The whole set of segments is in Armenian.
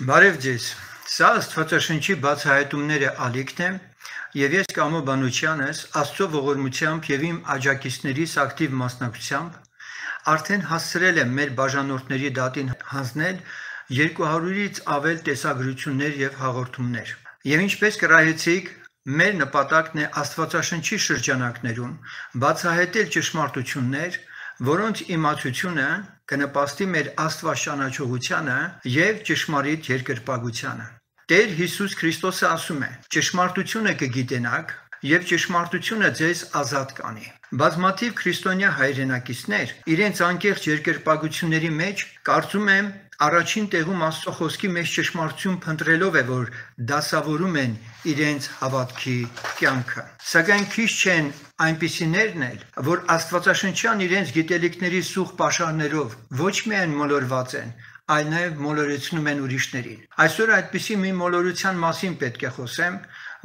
Բարև ձեզ, սա Աստվածաշնչի բացահայտումները ալիքն է և ես Կամո Բանուչյանս Աստծո ողորմությամբ և իմ աջակիցներիս ակտիվ մասնակցությամբ արդեն հասցրել եմ մեր բաժանորդների դատին հանձնել 200-ից ավել տեսագրություններ և հաղորդումներ։ Եվ ինչպես կռահեցիք, մեր նպատակն է Աստվածաշնչի շրջանակներում բացահայտել ճշմարտություններ, որոնց իմացությունը կնպաստի մեր Աստված ճանաչողությանը և ճշմարիտ երկրպագությանը։ Տեր Հիսուս Քրիստոսը ասում է. ճշմարտությունը կգիտենաք և ճշմարտությունը ձեզ ազատ կանի։ Բազմաթիվ քրիստոնյա հայրենակիցներ իրենց անկեղծ երկրպագությունների մեջ կարծում եմ առաջին տեղում Աստծո խոսքի մեջ ճշմարտություն փնտրելով է, որ դասավորում են իրենց հավատքի կյանքը։ Սակայն քիչ չեն այնպիսիներն էլ, որ Աստվածաշնչյան իրենց գիտելիքների սուղ պաշարներով ոչ միայն մոլորված են, այլ նաև մոլորեցնում են ուրիշներին։ Այսօր այդպիսի մի մոլորության մասին պետք է խոսեմ,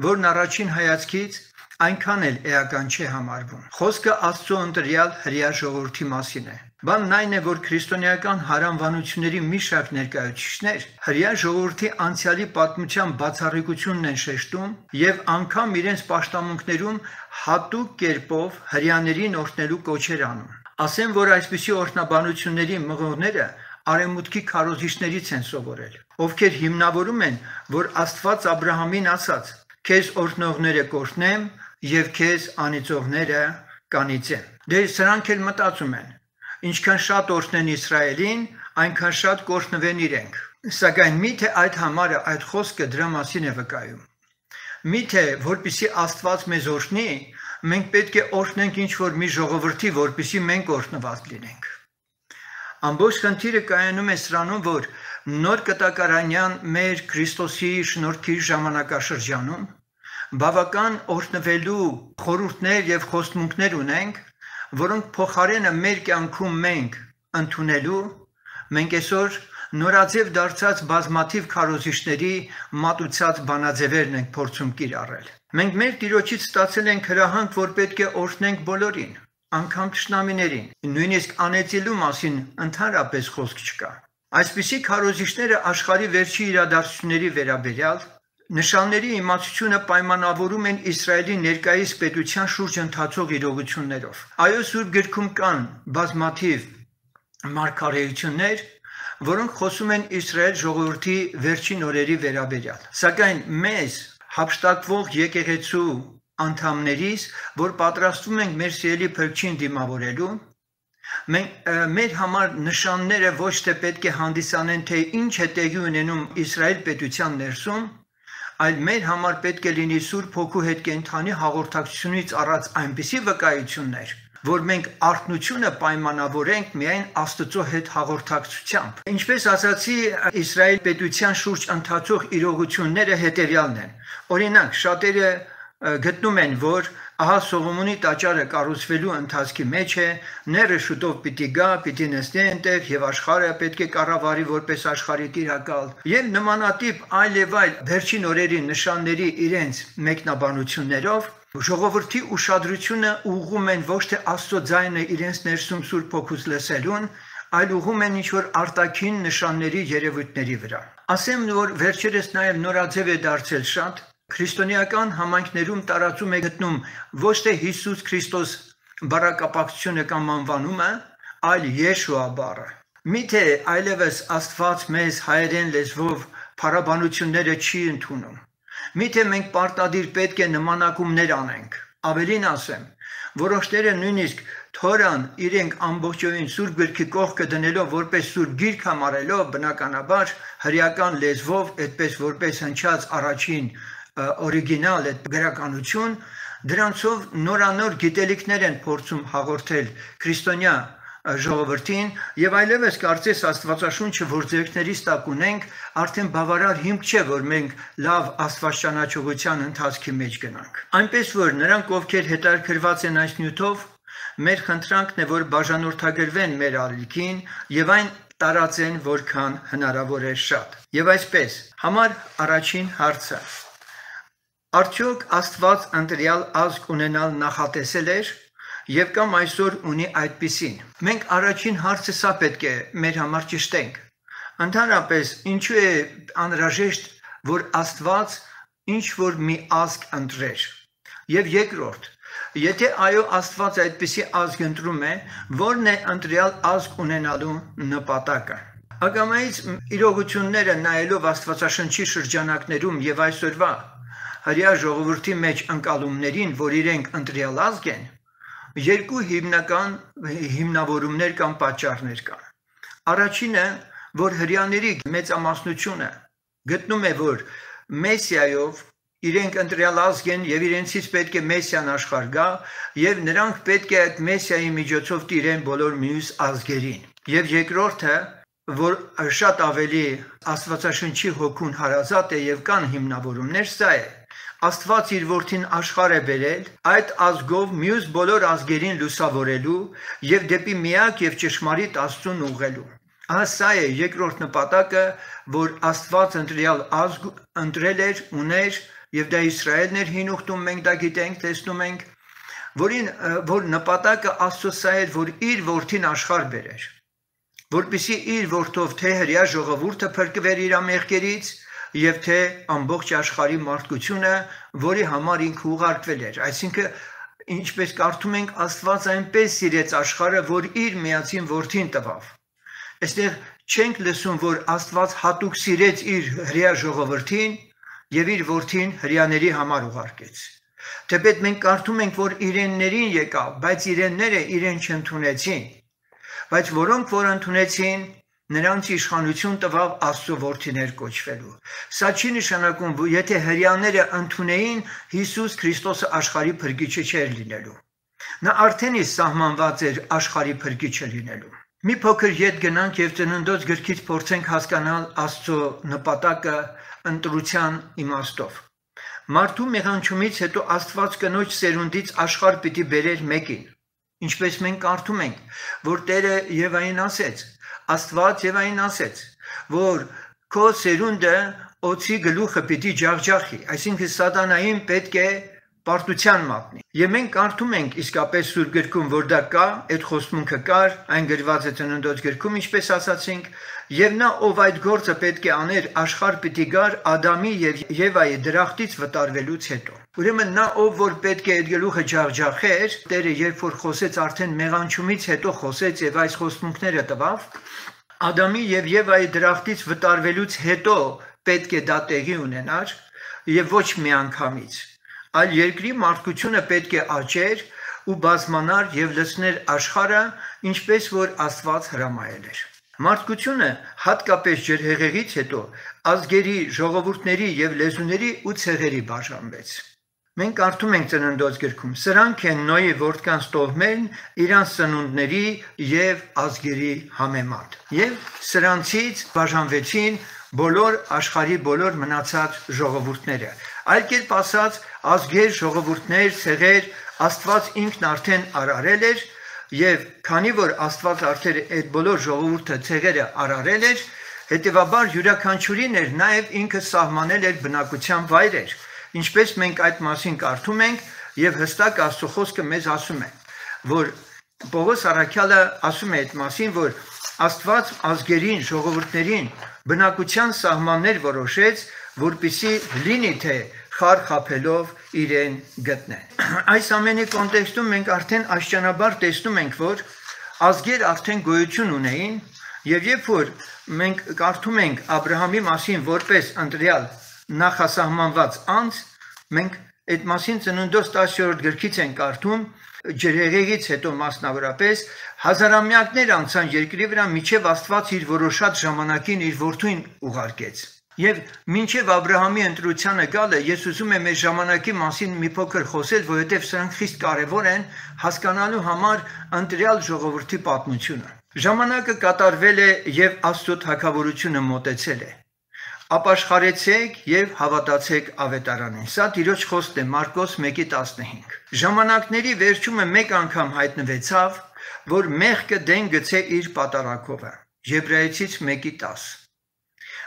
որն առաջին հայացքից այնքան էլ էական չէ համարվում։ Խոսքը Աստծո ընտրյալ հրեա ժողովրդի մասին է։ Բանն այն է, որ քրիստոնեական հարանվանությունների մի շարք ներկայացուցիչներ հրեա ժողովրդի անցյալի պատմության բացառիկությունն են շեշտում և անգամ իրենց պաշտամունքներում հատուկ կերպով հրեաներին օրհնելու կոչեր անում։ Ասեմ, որ այսպիսի օրհնաբանությունների մղողները արևմուտքի քարոզիչներից են սովորել, ովքեր հիմնավորում են, որ Աստված Աբրահամին ասաց. «Քեզ օրհնողները կօրհնեմ և քեզ անիծողները կանիծեմ»։ Դե սրանք էլ մտածում են. ինչքան շատ օրհնեն Իսրայելին, այնքան շատ կօրհնվեն իրենք։ Սակայն միթե այդ համարը, այդ խոսքը դրա մասին է վկայում։ Միթե որպեսզի Աստված մեզ օրհնի, մենք պետք է օրհնենք ինչ-որ մի ժողովրդի, որպեսզի մենք օրհնված լինենք։ Ամբողջ խնդիրը կայանում է սրանում, որ նոր կտակարանյան մեր Քրիստոսի շնորհքի ժամանակաշրջանում բավական օրհնվելու խորհուրդներ և խոստմունքներ ունենք, որոնք փոխարենը մեր կյանքում մենք ընդունելու, մենք այսօր նորաձև դարձած բազմաթիվ քարոզիչների մատուցած բանաձևերն ենք փորձում կիրառել։ Մենք մեր Տիրոջից ստացել ենք հրահանգ, որ պետք է օրհնենք բոլորին, անգամ թշնամիներին, նույնիսկ անեծելու մասին ընդհանրապես խոսք չկա։ Այսպիսի քարոզիչները աշխարհի վերջի իրադարձությունների վերաբերյալ նշանների իմացությունը պայմանավորում են Իսրայելի ներկայիս պետության շուրջ ընթացող իրողություններով։ Այո, Սուրբ Գրքում կան բազմաթիվ մարգարեություններ, որոնք խոսում են Իսրայել ժողովրդի վերջին օրերի վերաբերյալ։ Սակայն մեզ հափշտակվող եկեղեցու անդամներիս, որ պատրաստվում ենք մեր սիրելի Փրկչին դիմավորելու, մեր համար նշանները ոչ թե պետք է հանդիսանեն, թե ինչ է տեղի ունենում Իսրայել պետության ներսում, այլ մեր համար պետք է լինի Սուրբ Հոգու հետ կենդանի հաղորդակցությունից առած այնպիսի վկայություններ, որ մենք արթնությունը պայմանավորենք միայն Աստծո հետ հաղորդակցությամբ։ Ինչպես ասացի, Իսրայել պետության շուրջ ընթացող իրողությունները հետևյալն են։ Օրինակ, շատերը գտնում են, որ ահա Սողոմոնի տաճարը կառուցվելու ընթացքի մեջ է, ները շուտով պիտի գա, պիտի նստի այնտեղ և աշխարհը պետք է կառավարի որպես աշխարհի տիրակալ և նմանատիպ այլ եւ այլ վերջին օրերի նշանների իրենց մեկնաբանություններով ժողովրդի ուշադրությունը ուղղում են ոչ թե Աստծո ձայնը իրենց ներսում Սուրբ Հոգուց լսելուն, այլ ուղղում են ինչ-որ արտաքին նշանների երևույթների վրա։ Ասեմ, որ վերջերս նաև նորաձև է դարձել շատ քրիստոնեական համայնքներում տարածում է գտնում ոչ թե Հիսուս Քրիստոս բառակապակցությունը կամ անվանումը, այլ Եշուա բառը։ Միթե այլևս Աստված մեզ հայերեն լեզվով փառաբանությունները չի ընդունում։ Միթե մենք պարտադիր պետք է նմանակումներ անենք։ Ավելին ասեմ, որոշները նույնիսկ Թորան իրենք ամբողջովին Սուրբ Գրքի կողքը դնելով որպես Սուրբ Գիրք համարելով, բնականաբար հրեական լեզվով, այդպես որպես հնչած առաջին օրիգինալ այդ գրականություն, դրանցով նորանոր գիտելիքներ են փորձում հաղորդել քրիստոնյա ժողովրդին եւ այլևս կարծես Աստվածաշունչը, որ ձեռքներիս տակ ունենք, արդեն բավարար հիմք չէ, որ մենք լավ աստվածճանաչողության ընթացքի մեջ գնանք։ Այնպես որ նրանք, ովքեր հետաքրքրված են այս նյութով, մեր խնդրանքն է, որ բաժանորդագրվեն մեր ալիքին եւ այն տարածեն որքան հնարավոր է շատ։ Եվ այսպես, համար առաջին հարցը. Արդյոք Աստված ընտրյալ ազգ ունենալ նախատեսել էր եւ կամ այսօր ունի այդպիսին։ Մենք առաջին հարցը սա պետք է մեր համար ճշտենք։ Ընդհանրապես, ինչու է անհրաժեշտ, որ Աստված ինչ որ մի ազգ ընտրեր։ Եվ երկրորդ, եթե այո Աստված այդպիսի ազգ ընտրում է, ո՞րն է ընտրյալ ազգ ունենալու նպատակը։ Ակամայից իրողությունները նայելով Աստվածաշնչի շրջանակներում եւ այսօրվա հրեա ժողովրդի մեջ ընկալումներին, որ իրենք ընտրյալ ազգ են, երկու հիմնական հիմնավորումներ կամ պատճառներ կան։ Առաջինը, որ հրեաների մեծամասնությունը գտնում է, որ Մեսիայով իրենք ընտրյալ ազգ են եւ իրենցից պետք է Մեսիան աշխարհ գա եւ նրանք պետք է այդ Մեսիայի միջոցով տիրեն բոլոր մյուս ազգերին։ Եվ երկրորդը, որ շատ ավելի Աստվածաշնչի հոգուն հարազատ է եւ կան հիմնավորումներ, սա է. Աստված իր որդին աշխարհ է բերել այդ ազգով մյուս բոլոր ազգերին լուսավորելու եւ դեպի միակ եւ ճշմարիտ Աստծուն ուղղելու։ Ահա սա է երկրորդ նպատակը, որ Աստված ընտրյալ ազգ ընտրել էր, ուներ եւ դա Իսրայելն էր հին ուխտում, մենք դա գիտենք, տեսնում ենք, որ նպատակը Աստծո սա էր, որ իր որդին աշխարհ բերեր, որպեսզի իր որդով թե հրեա ժողովուրդը փրկվեր իր ամեղքերից եւ թե ամբողջ աշխարհի մարդկությունը, որի համար ինքը ուղարկվել էր։ Այսինքն, ինչպես կարդում ենք, Աստված այնպես սիրեց աշխարհը, որ իր միածին որդին տվավ։ Այստեղ չենք լսում, որ Աստված հատուկ սիրեց իր հրեա ժողովրդին եւ իր որդին հրեաների համար ուղարկեց։ Թեպետ մենք կարդում ենք, որ իրեններին եկավ, բայց իրենները իրեն չընդունեցին։ Բայց որոնք որ ընդունեցին, նրանց իշխանություն տվավ Աստծո որդիներ կոչվելու։ Սա չի նշանակում, որ եթե հրեաները ընդունեին, Հիսուս Քրիստոսը աշխարհի փրկիչը չէր լինելու։ Նա արդեն իսկ սահմանված էր աշխարհի փրկիչը լինելու։ Մի փոքր ետ գնանք եւ Ծննդոց գրքից փորձենք հասկանալ Աստծո նպատակը ընտրության իմաստով։ Մարդու մեղանչումից հետո Աստված կնոջ սերունդից աշխարհ պիտի բերեր մեկին։ Ինչպես մենք կարդում ենք, որ Տերը Եվային ասեց, Աստված Եվային ասեց, որ քո սերունդը օձի գլուխը պիտի ջախջախի, այսինքն սատանային պետք է պարտության մատնի։ Եվ մենք կարդում ենք իսկապես Սուրբ գրքում, որ դա կա, այդ խոստմունքը կար, այն գրված է Ծննդոց գրքում, ինչպես ասացինք, եւ նա ով այդ գործը պետք է աներ, աշխարհ պիտի գար Ադամի եւ Եվայի դրախտից վտարվելուց հետո։ Ուրեմն նա ով որ պետք է այդ գլուխը ջախջախեր, Տերը երբ որ խոսեց արդեն մեղանչումից հետո խոսեց եւ այս խոստմունքները տվավ, Ադամի եւ Եվայի դրախտից վտարվելուց հետո պետք է դա տեղի ունենար եւ ոչ միանգամից, այլ երկրի մարդկությունը պետք է աճեր ու բազմանար եւ լցներ աշխարհը, ինչպես որ Աստված հրամայել էր։ Մարդկությունը հատկապես ջրհեղեղից հետո ազգերի, ժողովուրդների եւ լեզուների ու ցեղերի բաժանվեց։ Մենք կարդում ենք Ծննդոց գրքում. սրանք են Նոյի որդկանց տոհմերն իրանց սնունդների եւ ազգերի համեմատ։ Եվ սրանցից բաժանվեցին բոլոր աշխարհի բոլոր մնացած ժողովուրդները։ Այլ կերպ ասած, ազգեր, ժողովուրդներ, ցեղեր Աստված ինքն արդեն արարել էր եւ քանի որ Աստված արդեն այդ բոլոր ժողովուրդը ցեղերը արարել էր, հետեւաբար յուրաքանչյուրին էր նաեւ ինքը սահմանել էր բնակության վայրեր։ Ինչպես մենք այդ մասին կարդում ենք եւ հստակ Աստծո խոսքը մեզ ասում է, որ Պողոս առաքյալը ասում է այդ մասին, որ Աստված ազգերին, ժողովուրդներին բնակության սահմաններ որոշեց, որպեսզի լինի թե խար խաբելով իրեն գտնեն։ Այս ամենի կոնտեքստում մենք արդեն աշճանաբար տեսնում ենք, որ ազգեր արդեն գոյություն ունեին եւ երբ որ մենք կարդում ենք Աբրահամի մասին որպես ընտրյալ նախասահմանված անձ, մենք այդ մասին Ծննդոց 10-րդ գրքից ենք կարդում, ջրհեղեղից հետո մասնավորապես հազարամյակներ անցան երկրի վրա, միջև Աստված իր որոշած ժամանակին իր որդուն ուղարկեց։ Եվ մինչև Աբրահամի ընտրությանը գալը, ես ուզում եմ այս ժամանակի մասին մի փոքր խոսել, որովհետև սրանք խիստ կարևոր են հասկանալու համար ընտրյալ ժողովրդի պատմությունը։ Ժամանակը կատարվել է եւ Աստծո թագավորությունը մոտեցել է։ Ապաշխարեցեք եւ հավատացեք ավետարանին։ Սա Տիրոջ խոսքն է Մարկոս 1:15։ Ժամանակների վերջումը մեկ անգամ հայտնվեցավ, որ մեղքը դեն գցե իր պատարակովը։ Եբրայեցից 1:10։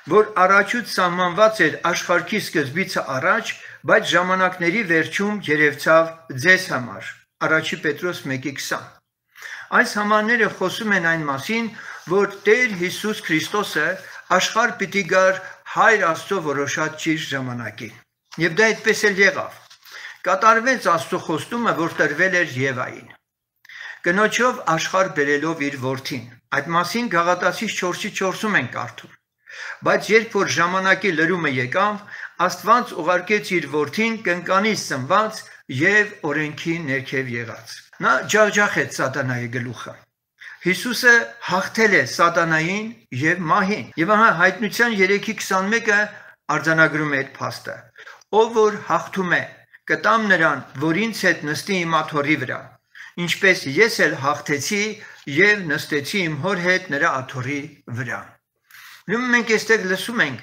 Որ առաջուց սահմանված էր աշխարհի սկզբիցը առաջ, բայց ժամանակների վերջում երևցավ ձեզ համար։ Առաջի Պետրոս 1:20։ Այս համարները խոսում են այն մասին, որ Տեր Հիսուս Քրիստոսը աշխարհ պիտի գար Հայր Աստծո որոշած ճիշտ ժամանակին։ Եվ դա այդպես էլ եղավ։ Կատարվեց Աստծո խոստումը, որ տրվել էր Եվային։ Կնոջով աշխարհ բերելով իր որդին։ Այդ մասին Գաղատացիս 4:4-ում ենք կարդում։ Բայց երբ որ ժամանակի լրումը եկավ, Աստված ուղարկեց իր որդին կնկանից ծնված եւ օրենքի ներքև եղած։ Նա ջախջախեց սատանայի գլուխը։ Հիսուսը հաղթել է սատանային եւ մահին։ Եվ ահա Հայտնության 3:21-ը արձանագրում է այդ փաստը։ Ով որ հաղթում է, կտամ նրան, որ ինձ հետ նստի իմ աթոռի վրա, ինչպես ես էլ հաղթեցի եւ նստեցի իմ հոր հետ նրա աթոռի վրա։ Ուրեմն մենք այստեղ լսում ենք,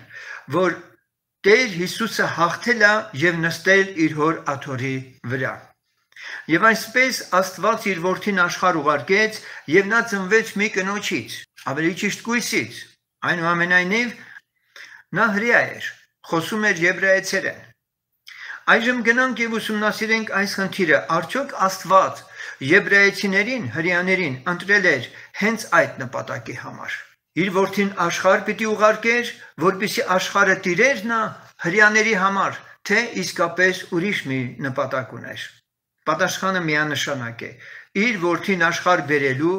որ Տեր Հիսուսը հաղթել է եւ նստել իր հոր աթոռի վրա։ Եվ այսպես Աստված իր որդին աշխարհ ուղարկեց եւ նա ծնվեց մի կնոջից, ավելի ճիշտ կույսից, այնուամենայնիվ նա հրեա էր, խոսում էր եբրայեցերեն։ Այժմ գնանք եւ ուսումնասիրենք այս խնդիրը, արդյոք Աստված եբրայեցիներին, հրեաներին ընտրել էր հենց այդ նպատակի համար։ Իր որդին աշխարհ պիտի ուղարկեր, որպեսզի աշխարհը տիրեր նա հրեաների համար, թե իսկապես ուրիշ մի նպատակ ուներ։ Պատասխանը միանշանակ է։ Իր որդին աշխարհ բերելու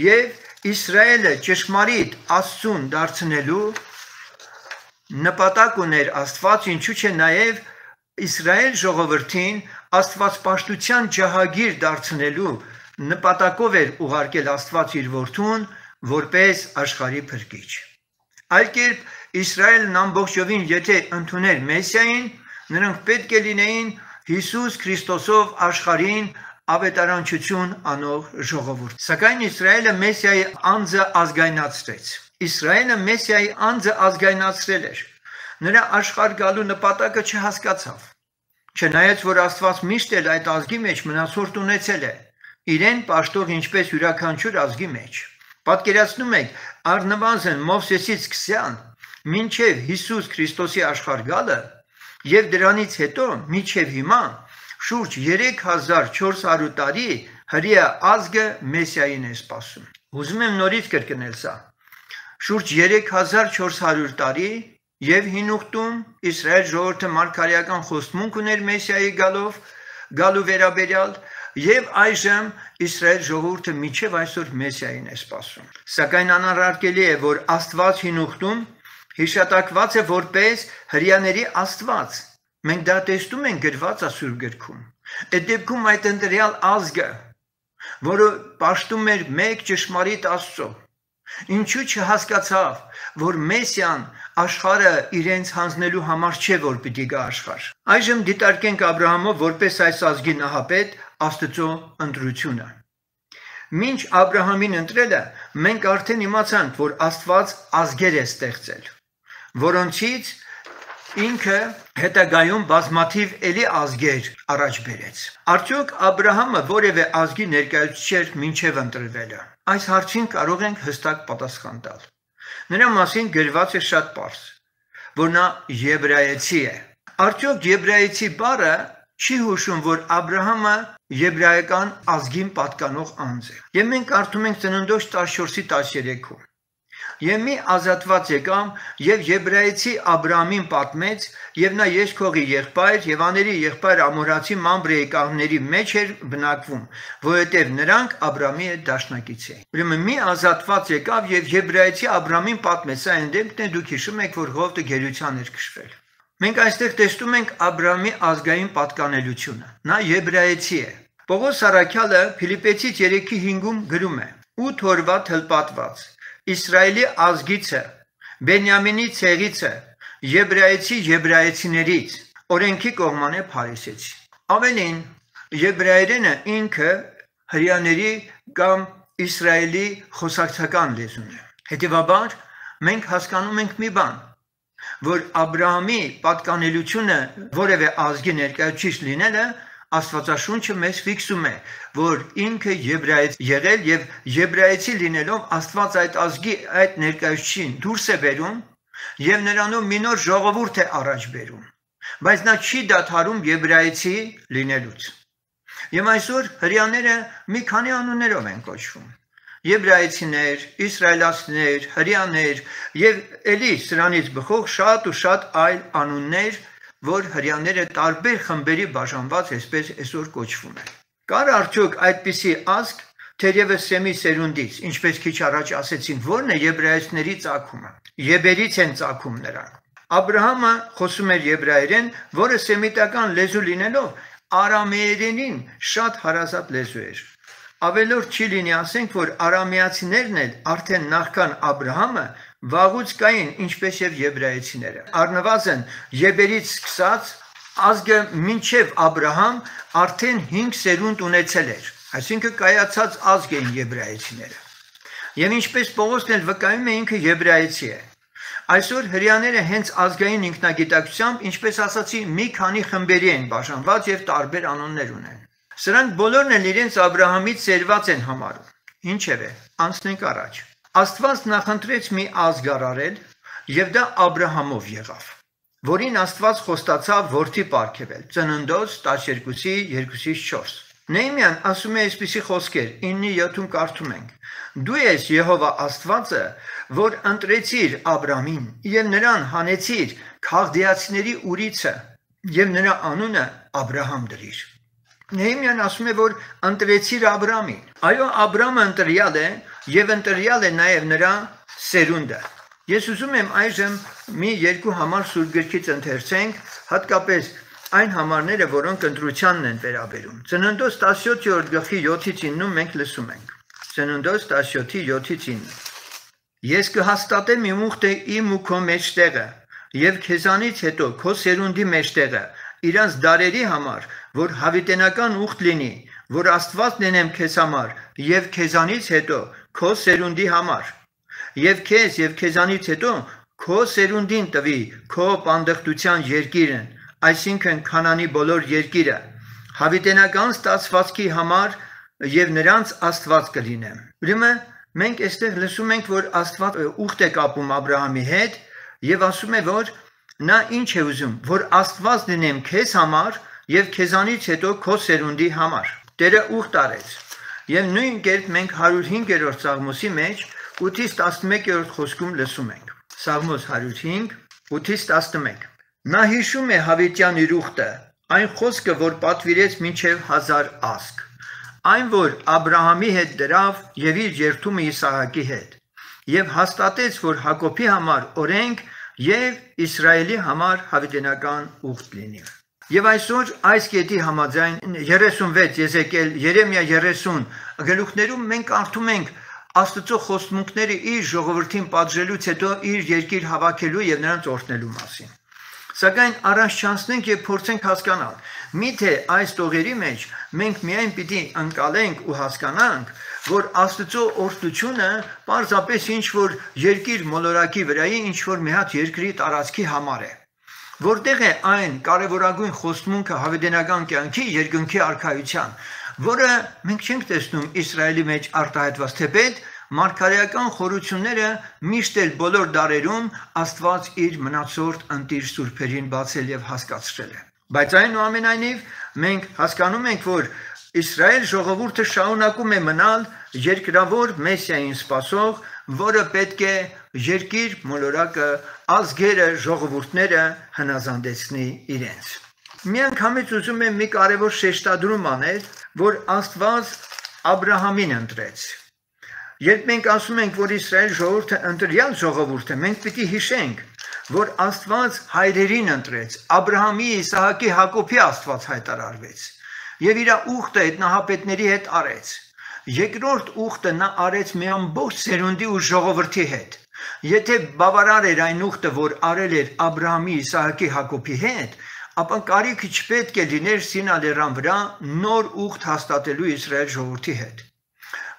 եւ Իսրայելը ճշմարիտ Աստծուն դարձնելու նպատակ ուներ Աստված, ինչու՞ չէ նաեւ Իսրայել ժողովրդին Աստվածպաշտության ջահագիր դարձնելու նպատակով էր ուղարկել Աստված իր որդուն որպես աշխարհի փրկիչ։ Այլ կերպ Իսրայելն ամբողջովին եթե ընդուներ Մեսիային, նրանք պետք է լինեին Հիսուս Քրիստոսով աշխարհին ավետարանչություն անող ժողովուրդ։ Սակայն Իսրայելը Մեսիայի անձը ազգայնացրեց։ Իսրայելը Մեսիայի անձը ազգայնացրել էր։ Նրա աշխարհ գալու նպատակը չհասկացավ։ Չնայած որ Աստված միշտ էլ այդ ազգի մեջ մնացորդ ունեցել է, իրեն պաշտող ինչպես յուրաքանչյուր ազգի մեջ։ Պատկերացնում եք, առնվազն Մովսեսից սկսյալ մինչև Հիսուս Քրիստոսի աշխարհ գալը եւ դրանից հետո մինչև հիմա շուրջ 3400 տարի հրեա ազգը Մեսիային է սպասում։ Ուզում եմ նորից կրկնել սա։ Շուրջ 3400 տարի եւ հին ուխտում Իսրայել ժողովուրդը մարգարեական խոստմունք ուներ Մեսիայի գալու վերաբերյալ եւ այժմ Իսրայել ժողովուրդը մինչև այսօր Մեսիային է սպասում։ Սակայն անառարկելի է, որ Աստված հին ուխտում հիշատակված է որպես հրեաների Աստված։ Մենք դա տեսնում ենք գրված Սուրբ գրքում։ Այդ դեպքում այդ ընտրյալ ազգը, որը պաշտում էր մեկ ճշմարիտ Աստծո, ինչու չհասկացավ, որ Մեսիան աշխարհը իրենց հանձնելու համար չէ, որ պիտի գա աշխարհ։ Այժմ դիտարկենք Աբրահամով որպես այս ազգի նահապետ Աստծո ընտրությունը։ Մինչ Աբրահամին ընտրելը, մենք արդեն իմացանք, որ Աստված ազգեր է ստեղծել, որոնցից ինքը հետագայում բազմաթիվ էլի ազգեր առաջ բերեց։ Արդյոք Աբրահամը որևէ ազգի ներկայացուցիչ էր մինչև ընտրվելը։ Այս հարցին կարող ենք հստակ պատասխան տալ։ Նրա մասին գրված է շատ պարզ, որ նա եբրայեցի է։ Արդյոք եբրայեցի բառը չի հուշում, որ Աբրահամը եբրայական ազգին պատկանող անձ է։ Եվ մենք կարդում ենք Ծննդոց 14:13-ում։ Եվ մի ազատված եկամ եւ եբրայեցի Աբրահամին պատմեց, եւ նա Եսքողի եղբայր եւ աների եղբայր ամորացի Մամբրեի կաղների մեջ էր բնակվում, որովհետեւ նրանք Աբրահամի հետ դաշնակից էին։ Ուրեմն մի ազատված եկավ եւ եբրայեցի Աբրահամին պատմեց, այն դեպքն է դուք հիշում եք, որ Ղովտը գերության էր քշվել։ Մենք այստեղ տեսնում ենք Աբրահամի ազգային պատկանելությունը։ Նա եբրայեցի է։ Պողոս Առաքյալը Ֆիլիպեցից 3:5-ում գրում է. «Ու թորվա թլպատված Իսրայելի ազգիցը, Բենյամինի ցեղիցը, եբրայեցի եբրայեցիներից, օրենքի կողմանե փարիսեցի»։ Ավելին, եբրայերենը ինքը հրեաների կամ Իսրայելի խոսակցական լեզուն է։ Հետևաբար, մենք հասկանում ենք մի բան, որ Աբրահամի պատկանելությունը որևէ ազգի ներկայացուցիչ լինելը Աստվածաշունչը մեզ ֆիքսում է, որ ինքը եբրայец եղել եւ եբրայեցի լինելով Աստված այդ ազգի այդ ներկայացուցին դուրս է բերում եւ նրանով մի նոր ժողովուրդ է առաջ բերում, բայց նա չի դադարում եբրայեցի լինելուց։ Եվ այսօր հրեաները մի քանի անուններով են կոչվում։ եբրայեցիներ, իսրայելացիներ, հրեաներ եւ ելի սրանից բխող շատ ու շատ այլ անուններ, որ հրեաները տարբեր խմբերի բաժանված այսպես այսօր կոչվում են։ Կար արդյոք այդպիսի ազգ, թերևս Սեմի սերունդից, ինչպես քիչ առաջ ասեցին, որն է եբրայեցիների ծագումը։ Եբերից են ծագում նրանք։ Աբրահամը խոսում էր եբրայերեն, որը սեմիտական լեզու լինելով արամեերենին շատ հարազատ լեզու էր։ Ավելորդ չի լինի ասենք, որ արամեացիներն էլ արդեն նախքան Աբրահամը վաղուց կային, ինչպես եւ եբրայեցիները։ Առնվազն եբերից սկսած ազգը մինչև Աբրահամ արդեն 5 սերունդ ունեցել էր, այսինքն կայացած ազգ էին եբրայեցիները։ Եվ ինչպես Պողոսն էլ վկայում է, ինքը եբրայեցի է։ Այսօր հրեաները հենց ազգային ինքնագիտակցությամբ, ինչպես ասացի, մի քանի խմբերի են բաժանված եւ տարբեր անուններ ունեն։ Սրանք բոլորն էլ իրենց Աբրահամից ծերված են համարում։ Ինչևէ, անցնենք առաջ։ Աստված նախընտրեց մի ազգ արարել եւ դա Աբրահամով եղավ, որին Աստված խոստացավ որդի պարգևել։ Ծննդոց 12:2-4։ Նեհեմիան ասում է այսպիսի խոսքեր, 9:7 կարդում ենք. Դու ես Եհովա Աստվածը, որ ընտրեցիր Աբրամին եւ նրան հանեցիր Քաղդեացիների ուրիցը եւ նրա անունը Աբրահամ դրիր։ Նեհեմիան ասում է, որ ընտրեցիր Աբրամին։ Այո, Աբրամը ընտրյալ է եւ ընտրյալ է նաեւ նրա սերունդը։ Ես ուզում եմ այժմ մի երկու համար Սուրբ գրքից ընթերցենք, հատկապես այն համարները, որոնք ընտրությանն են վերաբերում։ Ծննդոց 17:7-9 մենք լսում ենք։ Ծննդոց 17:7-9 Ես կհաստատեմ իմ ուխտը իմ ու քո մեջտեղը եւ քեզանից հետո քո սերունդի մեջտեղը իրանց դարերի համար, որ հավիտենական ուխտ լինի, որ Աստված լինեմ քեզ համար եւ քեզանից հետո քո սերունդի համար եւ քեզ եւ քեզանից հետո քո սերունդին տվի քո պանդխտության երկիրն, այսինքն Քանանի բոլոր երկիրը, հավիտենական ստացվածքի համար եւ նրանց Աստված կլինեմ։ Ուրեմն մենք այստեղ լսում ենք, որ Աստված ուխտ է կապում Աբրահամի հետ եւ ասում է, որ նա ինչ է ուզում, որ Աստված լինեմ քեզ համար եւ քեզանից հետո քո սերունդի համար։ Տերը ուխտ արեց։ Եվ նույն կերպ մենք 105-րդ Սաղմոսի մեջ 8-11-րդ խոսքում լսում ենք։ Սաղմոս 105, 8-11 Նա հիշում է հավիտյան իր ուխտը, այն խոսքը, որ պատվիրեց մինչև 1000 ազգ, այն, որ Աբրահամի հետ դրավ եւ իր երթումը Իսահակի հետ, եւ հաստատեց, որ Հակոբի համար օրենք եւ Իսրայելի համար հավիտենական ուխտ լինի։ Եվ այսօր այս կետի համաձայն 36 Եզեկիել, Երեմիա 30 գլուխներում մենք կարդում ենք Աստծո խոստմունքները իր ժողովրդին պատժելուց հետո իր երկիր հավաքելու եւ նրանց օրհնելու մասին։ Սակայն առաջ չանցնենք եւ փորձենք հասկանալ, միթե այս տողերի մեջ մենք միայն պիտի ընկալենք ու հասկանանք, որ Աստծո օրհնությունը պարզապես ինչ որ երկիր մոլորակի վրայի ինչ որ մի հատ երկրի տարածքի համար է։ Որտեղ է այն կարևորագույն խոստմունքը հավիտենական կյանքի երկնքի արքայության, որը մենք չենք տեսնում Իսրայելի մեջ արտահայտված, թեպետ մարգարեական խորությունները միշտ էլ բոլոր դարերում Աստված իր մնացորդ ընտիր սուրբերին բացել եւ հասկացրել է։ Բայց այնուամենայնիվ մենք հասկանում ենք, որ Իսրայել ժողովուրդը շարունակում է մնալ երկրավոր Մեսիային սպասող, որը պետք է երկիր մոլորակը, ազգերը, ժողովուրդները հնազանդեցնի իրենց։ Միանգամից ուզում եմ մի կարևոր շեշտադրում անել, որ Աստված Աբրահամին ընտրեց։ Երբ մենք ասում ենք, որ Իսրայել ժողովուրդը ընտրյալ ժողովուրդ է, մենք պիտի հիշենք, որ Աստված հայրերին ընտրեց, Աբրահամի, Իսահակի, Հակոբի Աստված հայտարարվեց եւ իր ուխտը այդ նահապետների հետ արեց։ Երկրորդ ուխտը նա արեց մի ամբողջ սերունդի ու ժողովրդի հետ։ Եթե բավարար էր այն ուխտը, որ արել էր Աբրահամի, Իսահակի, Հակոբի հետ, ապա կարիք չպետք է լիներ Սինա լեռան վրա նոր ուխտ հաստատելու Իսրայել ժողովրդի հետ։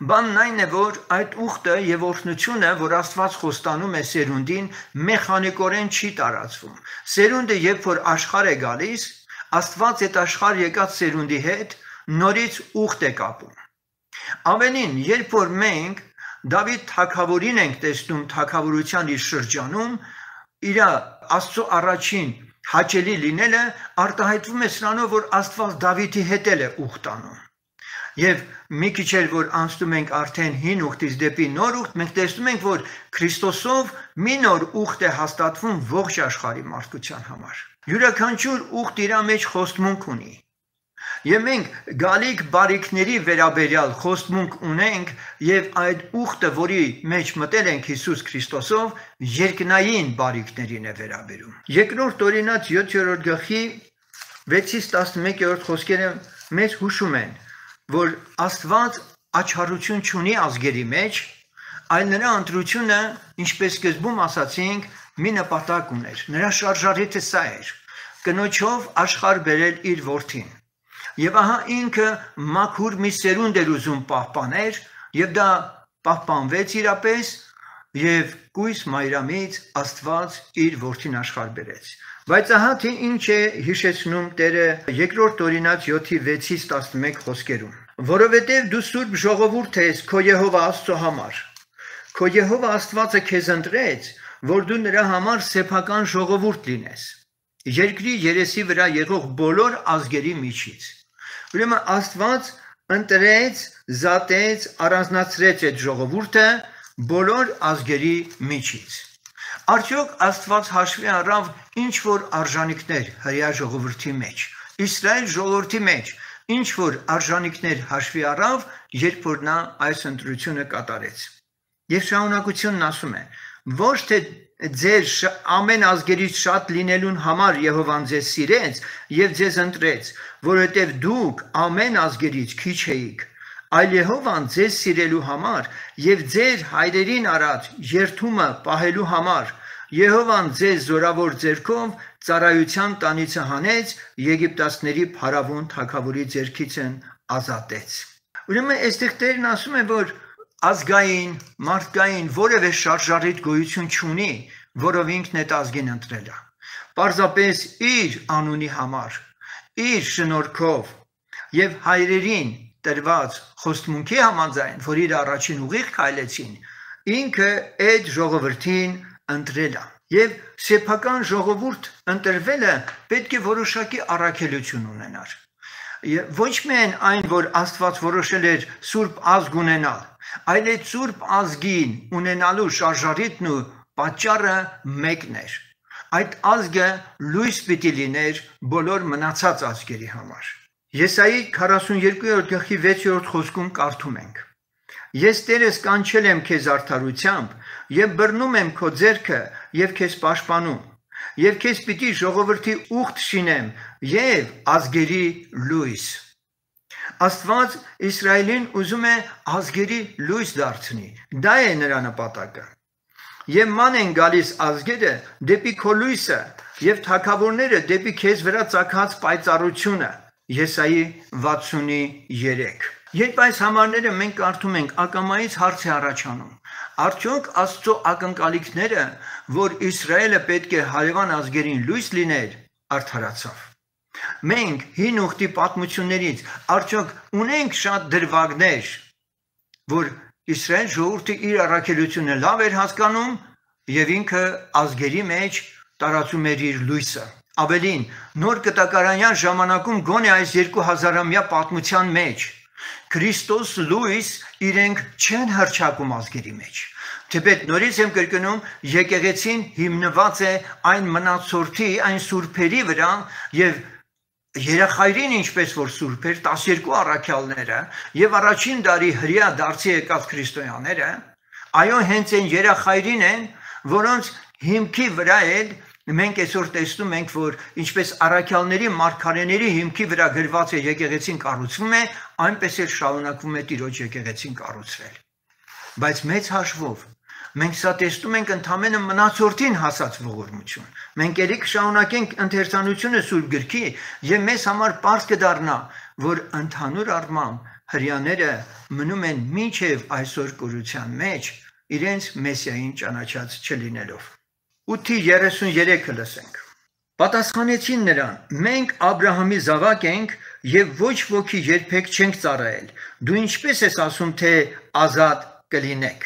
Բանն այն է, որ այդ ուխտը եւ օրհնությունը, որ Աստված խոստանում է սերունդին, մեխանիկորեն չի տարածվում։ Սերունդը երբ որ աշխարհ է գալիս, Աստված այդ աշխարհ եկած սերունդի հետ նորից ուխտ է կապում։ Ավելին, երբ որ մենք Դավիթ թագավորին ենք տեսնում թագավորության իր շրջանում, իր Աստծո առաջին հաճելի լինելը արտահայտվում է սրանով, որ Աստված Դավիթի հետ է ուխտ անում։ Եվ մի քիչ էլ որ անցնում ենք արդեն հին ուխտից դեպի նոր ուխտ, մենք տեսնում ենք, որ Քրիստոսով մի նոր ուխտ է հաստատվում ողջ աշխարհի մարդկության համար։ Յուրաքանչյուր ուխտ իր մեջ խոստմունք ունի։ Եվ մենք գալիք բարիքների վերաբերյալ խոստմունք ունենք եւ այդ ուխտը, որի մեջ մտել ենք Հիսուս Քրիստոսով, երկնային բարիքներին է վերաբերում։ Երկրորդ օրինաց 7-րդ գլխի 6-ից 11-րդ խոսքերը մեզ հուշում են, որ Աստված աչառություն չունի ազգերի մեջ, այլ նրա ընտրությունը, ինչպես սկզբում ասացինք, մի նպատակ ուներ։ Նրա շարժառիթը սա էր. կնոջով աշխարհ բերել իր որդին։ Եվ ահա ինքը մաքուր մի սերունդ էր ուզում պահպաներ, եւ դա պահպանվեց իրապես, եւ կույս մայրամից Աստված իր որդին աշխարհ բերեց։ Բայց ահա թե ինչ է հիշեցնում Տերը երկրորդ օրինաց 7-6-ից 11 խոսքերում։ Որովհետև դու սուրբ ժողովուրդ ես քո Եհովա Աստծո համար։ Քո Եհովա Աստվածը քեզ ընտրեց, որ դու նրա համար սեփական ժողովուրդ լինես։ Երկրի երեսի վրա եղող բոլոր ազգերի միջից։ Ուրեմն Աստված ընտրեց, զատեց, առանձնացրեց այդ ժողովուրդը բոլոր ազգերի միջից։ Արդյոք Աստված հաշվի առավ ինչ որ արժանիքներ հրեա ժողովրդի մեջ, Իսրայել ժողովրդի մեջ, ինչ որ արժանիքներ հաշվի առավ, երբ որ նա այս ընտրությունը կատարեց։ Եվ շարունակությունն ասում է. ոչ թե ձեր ամեն ազգերից շատ լինելուն համար Եհովան ձեզ սիրեց եւ ձեզ ընտրեց, որովհետեւ դուք ամեն ազգերից քիչ էիք, այլ Եհովան ձեզ սիրելու համար եւ ձեր հայրերին արած երթումը պահելու համար Եհովան ձեզ զորավոր ձեռքով ծառայության տանիցը հանեց, Եգիպտացիների փարավոն թագավորի ձեռքից ազատեց։ Ուրեմն այստեղ Տերն ասում է, որ ազգային, մարդկային որևէ շարժառիթ գոյություն չունի, որով ինքն այդ ազգին ընտրել է։ Պարզապես իր անունի համար, իր շնորհքով եւ հայրերին տրված խոստմունքի համաձայն, որ իր առաջին ուղիղ քայլեցին, ինքը այդ ժողովրդին ընտրել է։ Եվ սեփական ժողովուրդ ընտրվելը պետք է որոշակի առաքելություն ունենար։ Ոչ միայն այն, որ Աստված որոշել էր սուրբ ազգ ունենալ, այլ այդ սուրբ ազգին ունենալու շարժառիթն ու պատճառը մեկն էր։ Այդ ազգը լույս պիտի լիներ բոլոր մնացած ազգերի համար։ Եսայի 42-րդ գլխի 6-րդ խոսքում կարդում ենք. Ես Տերս կանչել եմ քեզ արդարությամբ եւ բռնում եմ քո ձեռքը եւ քեզ պաշտպանում եւ քեզ պիտի ժողովրդի ուխտ շինեմ եւ ազգերի լույս։ Աստված Իսրայելին ուզում է ազգերի լույս դարձնի։ Դա է նրա նպատակը։ Եվ ման են գալիս ազգերը դեպի քո լույսը եւ թագավորները դեպի քեզ վրա ծագած պայծառությունը։ Եսայի 63։ Երբ այս համարները մենք կարդում ենք, ակամայից հարց է առաջանում. արդյոք Աստծո ակնկալիքները, որ Իսրայելը պետք է հարևան ազգերին լույս լիներ, արդարացավ։ Մենք հին ուխտի պատմություններից արդյոք ունենք շատ դրվագներ, որ Իսրայել ժողովուրդը իր առաքելությունը լավ էր հասկանում եւ ինքը ազգերի մեջ տարածում էր իր լույսը։ Ավելին, նոր կտակարանյան ժամանակում գոնե այս 2000-ամյա պատմության մեջ Քրիստոս լույս իրենք չեն հռչակում ազգերի մեջ։ Թեպետ նորից եմ կրկնում, եկեղեցին հիմնված է այն մնացորդի, այն սուրբերի վրա եւ երախայրին ինչպես որ սուրբ էր 12 առաքյալները եւ առաջին դարի հրեա դարձի եկած քրիստոնյաները, այո հենց այն երախայրին են, որոնց հիմքի վրա էլ մենք այսօր տեսնում ենք, որ ինչպես առաքյալների մարգարեների հիմքի վրա գրված է եկեղեցին կառուցվում է, այնպես էլ շարունակվում է Տիրոջ եկեղեցին կառուցվել։ Բայց մեծ հաշվով մենք սա տեսնում ենք ընդամենը մնացորդին հասած ողորմություն։ Մենք ելի կշարունակենք ընթերցանությունը Սուրբ Գրքի եւ մեզ համար պարզ կդառնա, որ ընդհանուր առմամբ հրեաները մնում են մինչև այսօր կորության մեջ իրենց մեսիային ճանաչած չլինելով։ 8:33-ը լսենք։ Պատասխանեցին նրան. մենք Աբրահամի զավակ ենք եւ ոչ ոքի երբեք չենք ծառայել։ Դու ինչպես ես ասում, թե ազատ կլինեք։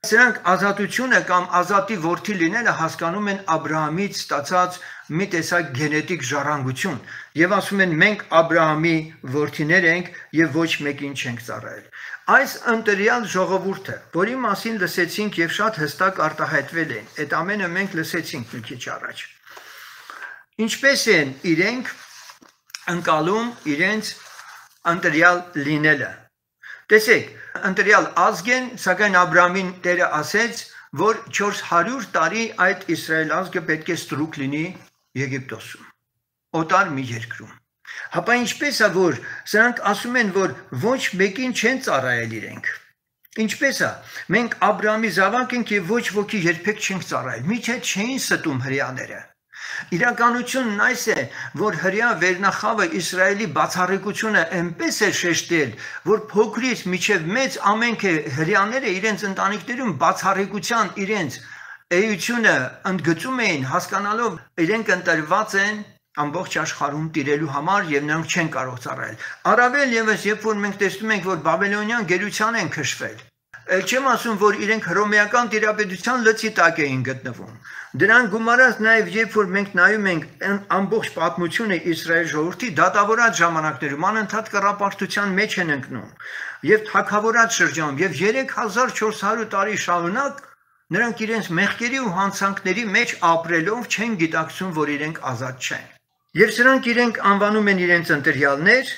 Սրանք ազատությունը կամ ազատի որդի լինելը հասկանում են Աբրահամից ստացած մի տեսակ գենետիկ ժառանգություն եւ ասում են մենք Աբրահամի որդիներ ենք եւ ոչ մեկին չենք ծառայել։ Այս ընտրյալ ժողովուրդը, որի մասին լսեցինք եւ շատ հստակ արտահայտվել են, այդ ամենը մենք լսեցինք մի քիչ առաջ։ Ինչպես են իրենք ընկալում իրենց ընտրյալ լինելը։ Տեսեք, ընտրյալ ազգ են, սակայն Աբրահամին Տերը ասեց, որ 400 տարի այդ Իսրայել ազգը պետք է ստրուկ լինի Եգիպտոսում, օտար մի երկրում։ Հապա ինչպես է, որ սրանք ասում են, որ ոչ մեկին չեն ծառայել իրենք։ Ինչպես է, մենք Աբրահամի զավակ ենք եւ ոչ ոքի երբեք չենք ծառայել։ Միթե չէին ստում հրեաները։ Իրականությունն այս է, որ հրեա վերնախավը Իսրայելի բացառիկությունը այնպես է շեշտել, որ փոքրից մինչև մեծ ամենք հրեաները իրենց ընտանիքներում բացառիկության իրենց էությունը ընդգծում էին, հասկանալով իրենք ընտրված են ամբողջ աշխարհում տիրելու համար եւ նրանք չեն կարող ծառայել։ Առավել եւս, երբ որ մենք տեսնում ենք, որ բաբելոնյան գերության են քշվել, չեմ ասում, որ իրենք հռոմեական տիրապետության լծի տակ էին գտնվում։ Դրան գումարած նաև երբ որ մենք նայում ենք ամբողջ պատմությունը Իսրայել ժողովրդի դատավորած ժամանակներում անընդհատ կռապաշտության մեջ են ընկնում եւ թագավորած շրջանում եւ 3400 տարի շարունակ նրանք իրենց մեղքերի ու հանցանքների մեջ ապրելով չեն գիտակցում, որ իրենք ազատ չեն։ Եվ սրանք իրենք անվանում են իրենց ընտրյալներ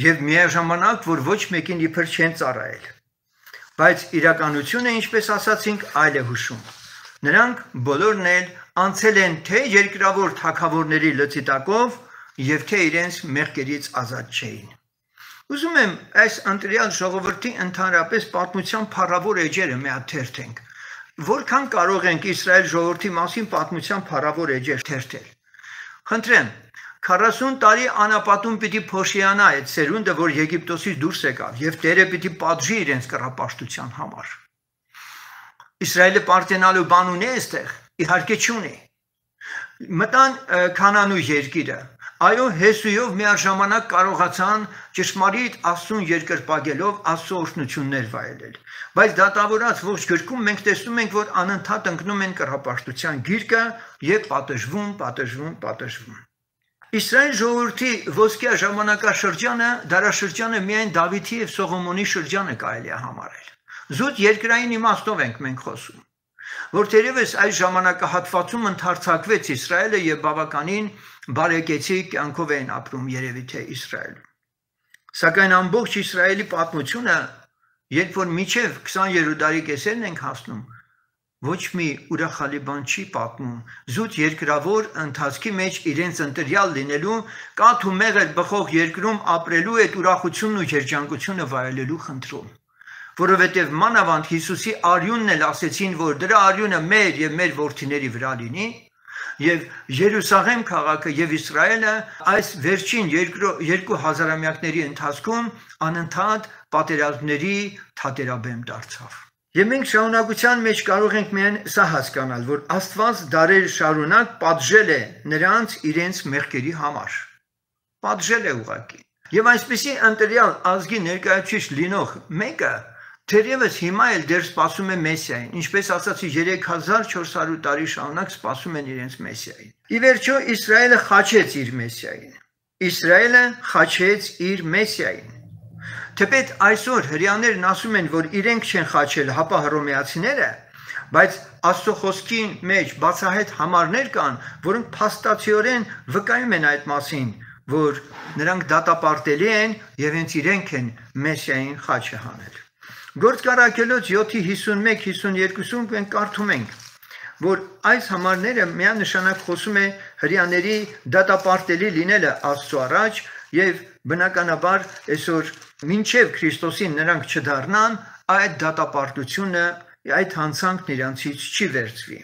եւ միաժամանակ, որ ոչ մեկին իբր չեն ծառայել։ Բայց իրականությունը, ինչպես ասացինք, այլ է հուշում։ Նրանք բոլորն էլ անցել են թե երկրավոր թագավորների լծի տակով եւ թե իրենց մեղքերից ազատ չէին։ Ուզում եմ այս ընտրյալ ժողովրդի ընդհանրապես պատմության փառավոր էջերը մի հատ թերթենք։ Որքան կարող ենք Իսրայել ժողովրդի մասին պատմության փառավոր էջեր թերթել։ Խնդրեմ, 40 տարի անապատում պիտի փոշիանա այդ սերունդը, որ Եգիպտոսից դուրս եկավ, եւ Տերը պիտի պատժի իրենց կռապաշտության համար։ Իսրայելը պարտենալու բան ունի այստեղ, իհարկե չունի։ Մտան Քանանու երկիրը, այո, Հեսույով միաժամանակ կարողացան ճշմարիտ Աստծուն երկրպագելով Աստծո օրհնություններ վայելել։ Բայց դատավորած ողջ գրքում մենք տեսնում ենք, որ անընդհատ ընկնում են կռապաշտության գիրկը եւ պատժվում։ Իսրայել ժողովրդի ոսկյա ժամանակաշրջանը, դարաշրջանը միայն Դավիթի եւ Սողոմոնի շրջանը կարելի է համարել։ Զուտ երկրային իմաստով ենք մենք խոսում, որ թերևս այս ժամանակահատվածում ընդարձակվեց Իսրայելը եւ բավականին բարեկեցիկ կյանքով էին ապրում երևի թե Իսրայելում։ Սակայն ամբողջ Իսրայելի պատմությունը, երբ որ միջև 20-րդ դարի կեսերն ենք հասնում, ոչ մի ուրախալի բան չի պատմում, զուտ երկրավոր ընթացքի մեջ իրենց ընտրյալ լինելու, կաթ ու մեղր բխող երկրում ապրելու այդ ուրախությունն ու երջանկությունը վայելելու խնդրում։ Որովհետև մանավանդ Հիսուսի արյունն էլ ասեցին, որ դրա արյունը մեր եւ մեր որդիների վրա լինի, եւ Երուսաղեմ քաղաքը եւ Իսրայելը այս վերջին երկու հազարամյակների ընթացքում անընդհատ պատերազմների թատերաբեմ դարձավ։ Եվ մենք շարունակության մեջ կարող ենք միայն սա հասկանալ, որ Աստված դարեր շարունակ պատժել է նրանց իրենց մեղքերի համար։ Պատժել է ուղղակի։ Եվ այսպիսի ընտրյալ ազգի ներկայացուցիչ լինող մեկը թերևս հիմա էլ դեռ սպասում է Մեսիային, ինչպես ասացի 3400 տարի շարունակ սպասում են իրենց Մեսիային։ Ի վերջո Իսրայելը խաչեց իր Մեսիային։ Իսրայելը խաչեց իր Մեսիային։ Թեպետ այսօր հրեաներն ասում են, որ իրենք չեն խաչել, հապա հռոմեացիները, բայց Աստծո խոսքին մեջ բացահայտ համարներ կան, որոնք փաստացիորեն վկայում են այդ մասին, որ նրանք դատապարտելի են եւ հենց իրենք են Մեսիային խաչը հանել։ Գործկարակելոց 7:51-52-ում մենք կարդում ենք, որ այս համարները միանշանակ խոսում է հրեաների դատապարտելի լինելը Աստծո առաջ եւ բնականաբար այսօր մինչև Քրիստոսին նրանք չդառնան, այդ դատապարտությունը, այդ հանցանքն իրանցից չի վերցվի։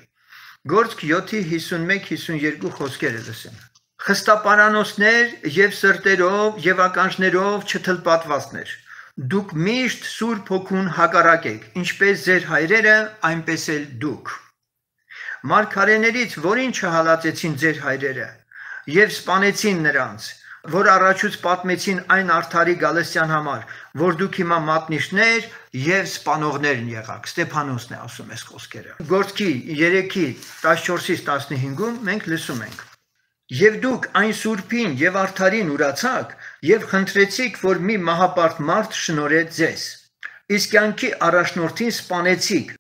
Գործք 7:51-52 խոսքերը լսեն։ Խստապարանոցներ եւ սրտերով եւ ականջներով չթլպատվածներ, դուք միշտ Սուրբ Հոգուն հակառակ եք, ինչպես ձեր հայրերը, այնպես էլ դուք։ Մարգարեներից որին չհալածեցին ձեր հայրերը եւ սպանեցին նրանց, որ առաջուց պատմեցին այն արդարի Գալստյան համար, որ դուք հիմա մատնիչներ եւ սպանողներն եղաք։ Ստեփանոսն է ասում այս խոսքերը։ Գործքի 3:14-ից 15-ում մենք լսում ենք. Եվ դուք այն սուրբին եւ արդարին ուրացաք եւ խնդրեցիք, որ մի մահապարտ մարդ շնորհեց ձեզ։ Իսկ կյանքի առաջնորդին սպանեցիք։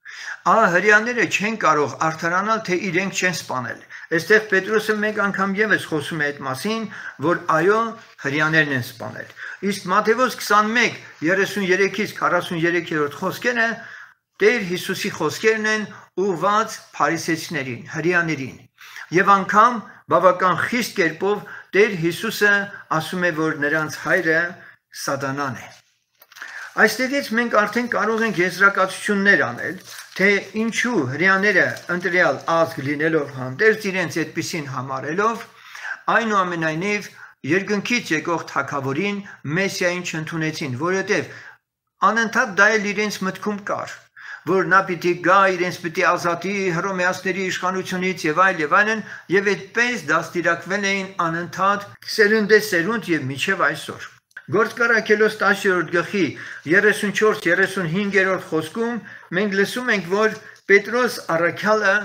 Հրեաները չեն կարող արդարանալ, թե իրենք չեն սպանել։ Այստեղ Պետրոսը մեկ անգամ եւս խոսում է այդ մասին, որ այո, հրեաներն են սպանել։ Իսկ Մատթեոս 21:33-ից 43-րդ խոսքերը Տեր Հիսուսի խոսքերն են ուղված փարիսեցիներին, հրեաներին։ Եվ անգամ բավական խիստ կերպով Տեր Հիսուսը ասում է, որ նրանց հայրը Սատանան է։ Այստեղից մենք արդեն կարող ենք եզրակացություններ անել, թե ինչու հրեաները ընտրյալ ազգ լինելով հանդերձ իրենց այդպիսին համարելով, այնուամենայնիվ երկնքից եկող թագավորին Մեսիային չընդունեցին, որովհետև անընդհատ դա էլ իրենց մտքում կար, որ նա պիտի գա, իրենց պիտի ազատի հռոմեացիների իշխանությունից եւ այլն, եւ այդպես դաստիարակվել էին անընդհատ սերնդեսերունդ եւ մինչեւ այսօր։ Գործկարակելոս 10-րդ գլխի 34-35-րդ խոսքում մենք լսում ենք, որ Պետրոս առաքյալը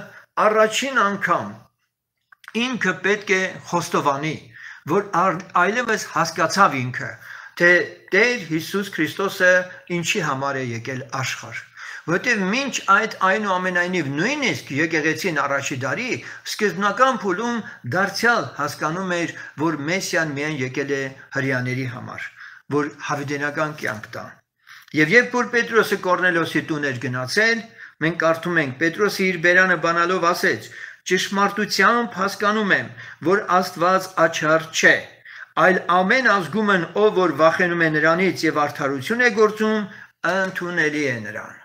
առաջին անգամ ինքը պետք է խոստովանի, որ այլևս հասկացավ ինքը, թե Տեր Հիսուս Քրիստոսը ինչի համար է եկել աշխարհ։ Որտեղ մինչ այդ այնուամենայնիվ նույնիսկ եկեղեցին առաջի դարի սկզբնական փուլում դարձյալ հասկանում էր, որ Մեսիան միայն եկել է հրեաների համար, որ հավիտենական կյանք տա։ Եվ երբ որ Պետրոսը Կորնելիոսի տուն էր գնացել, մենք կարդում ենք Պետրոսը իր բերանը բանալով ասեց. ճշմարտությամբ հասկանում եմ, որ Աստված աչառ չէ, այլ ամեն ազգումն ով որ վախենում է նրանից եւ արդարություն է գործում, ընդունելի է նրան։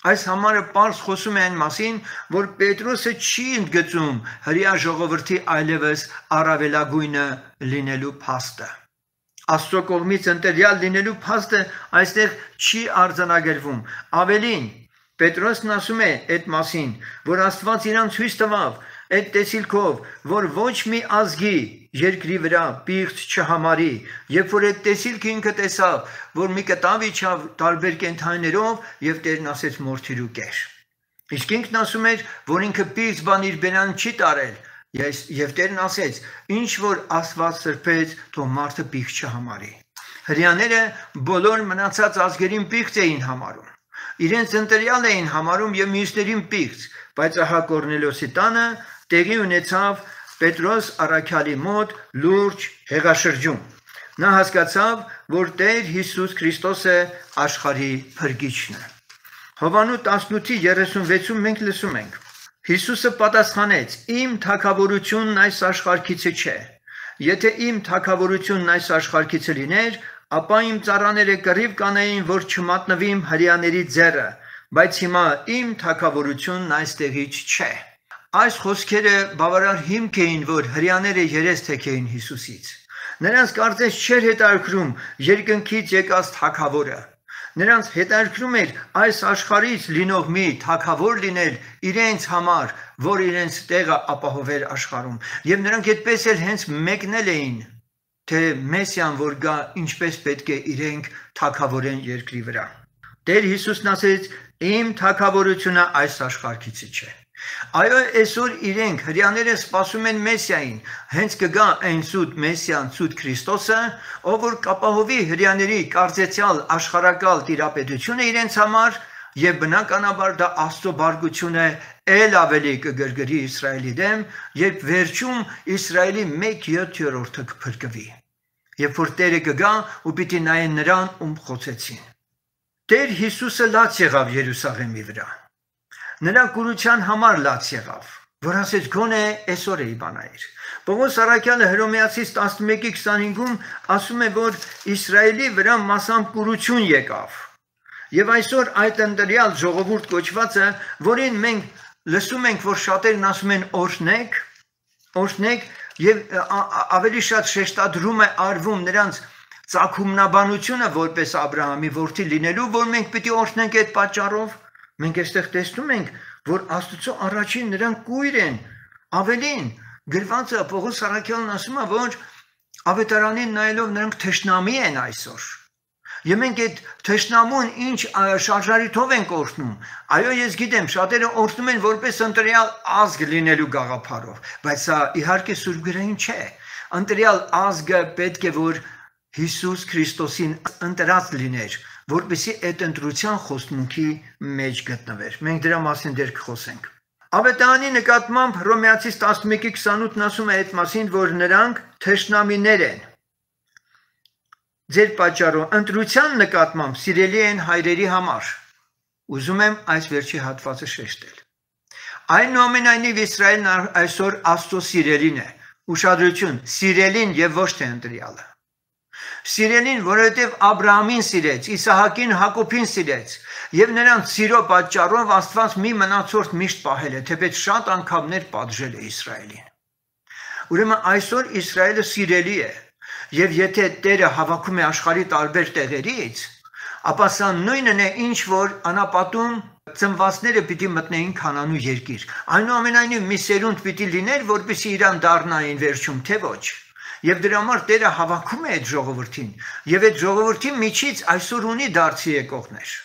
Այս համարը պարզ խոսում է այն մասին, որ Պետրոսը չի ընդգծում հրեա ժողովրդի այլևս առավելագույնը լինելու փաստը։ Աստծո կողմից ընտրյալ լինելու փաստը այստեղ չի արձանագրվում։ Ավելին, Պետրոսն ասում է այդ մասին, որ Աստված իրան ցույց տվավ այդ տեսիլքով, որ ոչ մի ազգի երկրի վրա պիղծ չհամարի, երբ որ այդ տեսիլքը ինքը տեսավ, որ մի կտավ իջավ տարբեր կենդանիներով եւ Տերն ասեց մորթիր ու կեր։ Իսկ ինքն ասում էր, որ ինքը պիղծ բան իր բերան չի տարել, եւ Տերն ասեց. ինչ որ Աստված սրբեց, թող մարդը պիղծ չհամարի։ Հրեաները բոլոր մնացած ազգերին պիղծ էին համարում։ Իրենց ընտրյալ էին համարում եւ մյուսներին պիղծ, բայց ահա Կորնելիոսի տանը տեղի ունեցավ Պետրոս առաքյալի մոտ լուրջ հեղաշրջում։ Նա հասկացավ, որ Տեր Հիսուս Քրիստոսը աշխարհի փրկիչն է։ Հովանու 18:36-ում մենք լսում ենք. Հիսուսը պատասխանեց. իմ թագավորությունն այս աշխարհքիցը չէ։ Եթե իմ թագավորությունն այս աշխարհքիցը լիներ, ապա իմ ծառաները կռիվ կանեին, որ չմատնվիմ հրեաների ձեռը, բայց հիմա իմ թագավորությունն այստեղից չէ։ Այս խոսքերը բավարար հիմք էին, որ հրեաները երես թեքեին Հիսուսից։ Նրանց կարծես չէր հետաքրքրում երկնքից եկած թագավորը։ Նրանց հետաքրքրում էր այս աշխարհից լինող մի թագավոր լինել իրենց համար, որ իրենց տեղը ապահովեր աշխարհում։ Եվ նրանք այդպես էլ հենց մեկնել էին, թե Մեսիան որ գա, ինչպես պետք է իրենք թագավորեն երկրի վրա։ Տեր Հիսուսն ասեց. իմ թագավորությունը այս աշխարհքից չէ։ Այո, այսօր իրենք հրեաները սպասում են Մեսիային, հենց կգա այն սուտ Մեսիան, սուտ Քրիստոսը, ով որ կապահովի հրեաների կարծեցյալ աշխարհակալ տիրապետությունը իրենց համար, եւ բնականաբար դա Աստծո բարգությունը ել ավելի կգրգրի Իսրայելի դեմ, երբ վերջում Իսրայելի 1/7 կփրկվի։ Երբ որ Տերը կգա ու պիտի նայեն նրան, ում խոցեցին։ Տեր Հիսուսը լաց եղավ Երուսաղեմի վրա։ Նրա կուրության համար լաց եղավ, որ ասեց գոնե այսօր է իբանայր։ Պողոս առաքյալը Հռոմեացիս 11:25-ում ասում է, որ Իսրայելի վրա մասամբ կուրություն եկավ։ Եվ այսօր այդ ընտրյալ ժողովուրդ կոչվածը, որին մենք լսում ենք, որ շատերն ասում են օրհնեք, եւ ավելի շատ շեշտադրում է արվում նրանց ծագումնաբանությունը որպես Աբրահամի որդի լինելու, որ մենք պիտի օրհնենք այդ պատճառով։ Մենք այստեղ տեսնում ենք, որ Աստծո առաջին նրանք կույր են, ավելին գրվածը Պողոս առաքյալն ասում է, որ Ավետարանին նայելով նրանք թշնամի են այսօր։ Եվ մենք այդ թշնամուն ինչ շարժարիթով ենք օրհնում։ Այո, ես գիտեմ, շատերը օրհնում են որպես ընտրյալ ազգ լինելու գաղափարով, բայց սա իհարկե սուրբգրային չէ։ Ընտրյալ ազգը պետք է որ Հիսուս Քրիստոսին ընտրած լիներ, որպեսզի այդ ընտրության խոստմունքի մեջ գտնվեր։ Մենք դրա մասին դեռ կխոսենք։ Ավետարանի նկատմամբ Հռոմեացիս 11:28-ն ասում է այդ մասին, որ նրանք թշնամիներ են։ Ձեր պատճառով ընտրության նկատմամբ սիրելի են հայրերի համար։ Ուզում եմ այս վերջի հատվածը շեշտել։ Այնուամենայնիվ Իսրայելն այսօր Աստծո սիրելին է։ Ուշադրություն, սիրելին եւ ոչ թե ընտրյալը։ Սիրելին, որովհետև Աբրահամին սիրեց, Իսահակին, Հակոբին սիրեց, եւ նրանց սիրո պատճառով Աստված մի մնացորդ միշտ պահել է, թեպետ շատ անգամներ պատժել է Իսրայելին։ Ուրեմն այսօր Իսրայելը սիրելի է, եւ եթե Տերը հավաքում է աշխարհի տարբեր տեղերից, ապա սա նույնն է, ինչ որ անապատում ծնվածները պիտի մտնեին Քանանու երկիր։ Այնուամենայնիվ մի սերունդ պիտի լիներ, որպեսզի իրան դառնային վերջում, թե ոչ։ Եվ դրա համար Տերը հավաքում է այդ ժողովրդին, եւ այդ ժողովրդի միջից այսօր ունի դարձի եկողներ։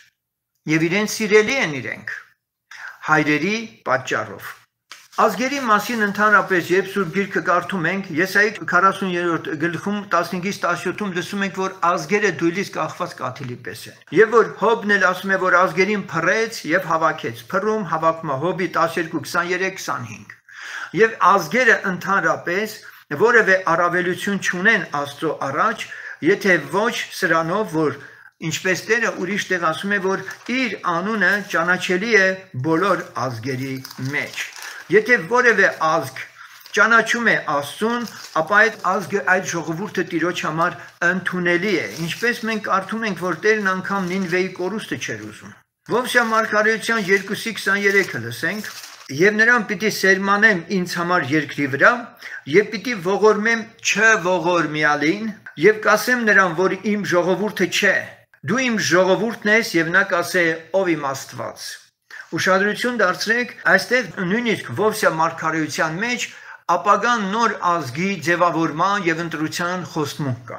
Եվ իրեն սիրելի են իրենք հայրերի պատճառով։ Ազգերի մասին ընդհանրապես երբ Սուրբ Գիրքը կարդում ենք, Եսայի 40-րդ գլխում 15-17-ում լսում ենք, որ ազգերը դույլից կախված կաթիլի պես են։ Եվ որ Հոբն էլ ասում է, որ ազգերին փռեց եւ հավաքեց։ Փռում հավաքում Հոբի 12:23-25։ Եվ ազգերը ընդհանրապես որևէ առավելություն չունեն Աստծո առաջ, եթե ոչ սրանով, որ ինչպես Տերը ուրիշ տեղ ասում է, որ իր անունը ճանաչելի է բոլոր ազգերի մեջ։ Եթե որևէ ազգ ճանաչում է Աստծուն, ապա այդ ազգը, այդ ժողովուրդը Տիրոջ համար ընդունելի է, ինչպես մենք կարդում ենք, որ Տերն անգամ Նինվեի կորուստը չէր ուզում։ Ովսիա մարգարեության 2:23-ը լսենք. Եվ նրան պիտի սերմանեմ ինձ համար երկրի վրա, եւ պիտի ողորմեմ չողորմյալին, եւ կասեմ նրան, որ իմ ժողովուրդը չէ, դու իմ ժողովուրդն ես, եւ նա կասե ով իմ Աստված։ Ուշադրություն դարձրեք, այստեղ նույնիսկ Ովսիա մարգարեության մեջ ապագան նոր ազգի ձևավորման եւ ընտրության խոստմունք կա։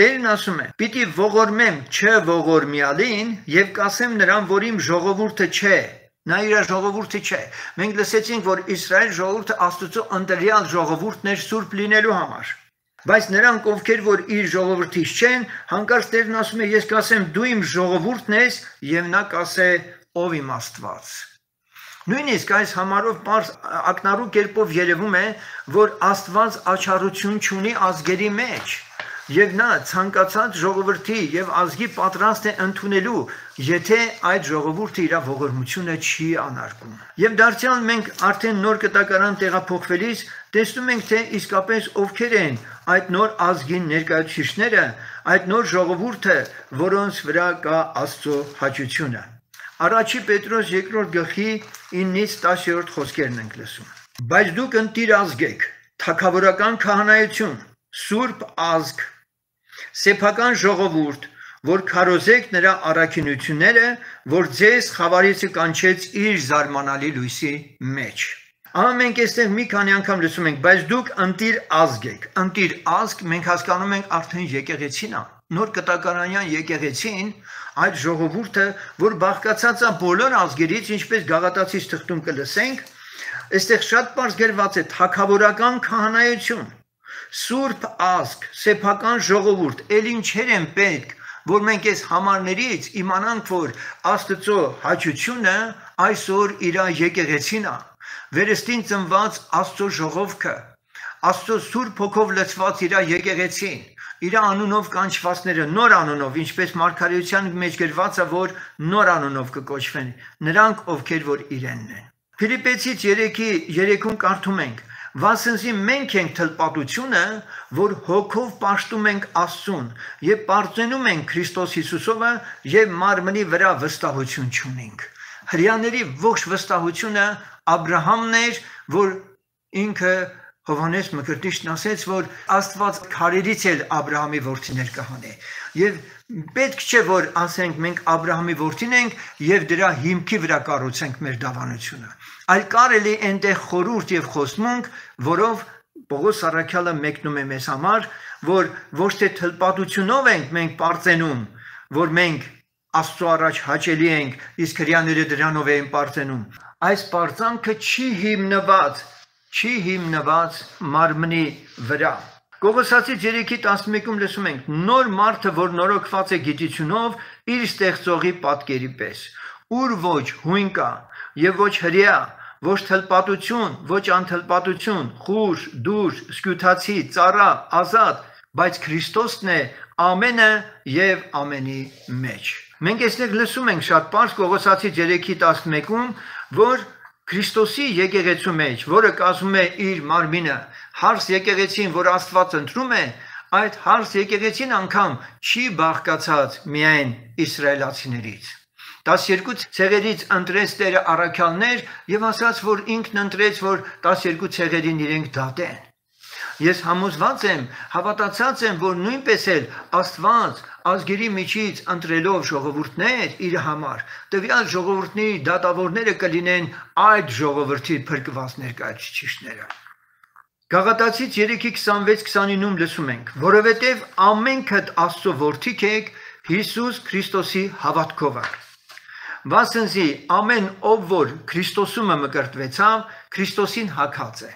Տերն ասում է. պիտի ողորմեմ չողորմյալին եւ կասեմ նրան, որ իմ ժողովուրդը չէ։ Նա իր ժողովուրդը չէ։ Մենք լսեցինք, որ Իսրայել ժողովուրդը Աստծո ընտրյալ ժողովուրդն էր սուրբ լինելու համար։ Բայց նրանք, ովքեր որ իր ժողովրդից չեն, հանկարծ Տերն ասում է. ես կասեմ դու իմ ժողովուրդն ես եւ նա կասե ով իմ Աստված։ Նույնիսկ այս համարով պարզ ակնառու կերպով երևում է, որ Աստված աչառություն չունի ազգերի մեջ, եւ նա ցանկացած ժողովրդի եւ ազգի պատրաստ է ընդունելու, եթե այդ ժողովուրդը իր ողորմությունը չի անարգում։ Եվ դարձյալ մենք արդեն նոր կտակարան տեղափոխվելիս տեսնում ենք, թե իսկապես ովքեր են այդ նոր ազգին ներկայացուցիչները, այդ նոր ժողովուրդը, որոնց վրա կա Աստծո հաճությունը։ Առաջի Պետրոս 2-րդ գլխի 9-10-րդ խոսքերն ենք լսում։ Բայց դուք ընտիր ազգ եք, թագավորական քահանայություն, սուրբ ազգ, սեփական ժողովուրդ, որ քարոզեք նրա առաքինությունները, որ ձեզ խավարիցը կանչեց իր զարմանալի լույսի մեջ։ Ահա մենք այստեղ մի քանի անգամ լսում ենք, բայց դուք ընտիր ազգ եք։ Ընտիր ազգ մենք հասկանում ենք արդեն եկեղեցին է։ Նոր կտակարանյան եկեղեցին այդ ժողովուրդը, որ բաղկացած է բոլոր ազգերից, ինչպես Գաղատացիս թղթում կլսենք, այստեղ շատ պարզ գրված է թագավորական քահանայություն, սուրբ ազգ, սեփական ժողովուրդ, ել ինչեր են պետք, որ մենք այս համարներից իմանանք, որ Աստծո հաճությունը այսօր իր եկեղեցին է, վերստին ծնված Աստծո ժողովքը, Աստծո Սուրբ Հոգով լցված իր եկեղեցին, իր անունով կանչվածները նոր անունով, ինչպես մարգարեության մեջ գրված է, որ նոր անունով կկոչվեն, նրանք ովքեր որ իրենն են։ Ֆիլիպեցից 3:3-ում կարդում ենք. Վասնզի մենք ենք թլպատությունը, որ հոգով պաշտում ենք Աստծուն եւ պարծենում ենք Քրիստոս Հիսուսովը եւ մարմնի վրա վստահություն չունենք։ Հրյաների ողջ վստահությունը Աբրահամն էր, որ ինքը Հովհաննես Մկրտիչն ասեց, որ Աստված քարերից էլ Աբրահամի որդիներ կհանե։ Եվ պետք չէ, որ ասենք մենք Աբրահամի որդին ենք եւ դրա հիմքի վրա կառուցենք մեր դավանությունը։ Այլ կարելի այնտեղ խորհուրդ եւ խոստմունք, որով Պողոս առաքյալը մեկնում է մեզ համար, որ ոչ թե թլպատությունով ենք մենք պարծենում, որ մենք Աստծո առաջ հաճելի ենք, իսկ հրեաները դրանով էին պարծենում։ Այս պարծանքը չի հիմնված մարմնի վրա։ Կողոսացի 3:11-ում լսում ենք. նոր մարդը, որ նորոգված է գիտությունով, իր ստեղծողի պատկերի պես, ուր ոչ հույն կա եւ ոչ հրեա, ոչ թլպատություն, ոչ անթլպատություն, խուր, դուր, սկյութացի, ծառա, ազատ, բայց Քրիստոսն է ամենը եւ ամենի մեջ։ Մենք այստեղ լսում ենք շատ պարզ Կողոսացի 3:11-ում, որ Քրիստոսի եկեղեցու մեջ, որը կազմում է իր մարմինը, հարս եկեղեցին, որ Աստված ընտրում է, այդ հարս եկեղեցին անգամ չի բաղկացած միայն իսրայելացիներից։ 12 ցեղերից ընտրեց Տերը առաքյալներ եւ ասաց, որ ինքն ընտրեց, որ 12 ցեղերին իրենք դատեն։ Ես համոզված եմ, հավատացած եմ, որ նույնպես էլ Աստված ազգերի միջից ընտրելով ժողովուրդներ իր համար, տվյալ ժողովուրդների դատավորները կլինեն այդ ժողովրդի փրկված ներկայացուցիչները։ Գաղատացից 3:26-29-ում լսում ենք. որովհետև ամենքդ Աստծո որդիք եք Հիսուս Քրիստոսի հավատքով։ Վասնզի ամեն ով որ Քրիստոսում մկրտվեցավ, Քրիստոսին հագած է։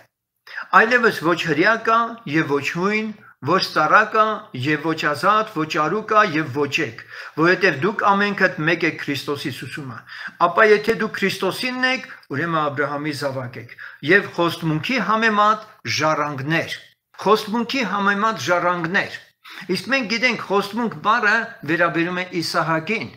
Այլևս ոչ հրեա կա եւ ոչ հույն, ոչ ծառա կա եւ ոչ ազատ, ոչ արու կա եւ ոչեք, որովհետեւ դուք ամենքդ մեկ եք Քրիստոսի ուսումը։ Ապա եթե դուք Քրիստոսինն եք, ուրեմն Աբրահամի զավակ եք եւ խոստմունքի համեմատ ժառանգներ։ Խոստմունքի համեմատ ժառանգներ։ Իսկ մենք գիտենք խոստմունք բառը վերաբերում է Իսահակին։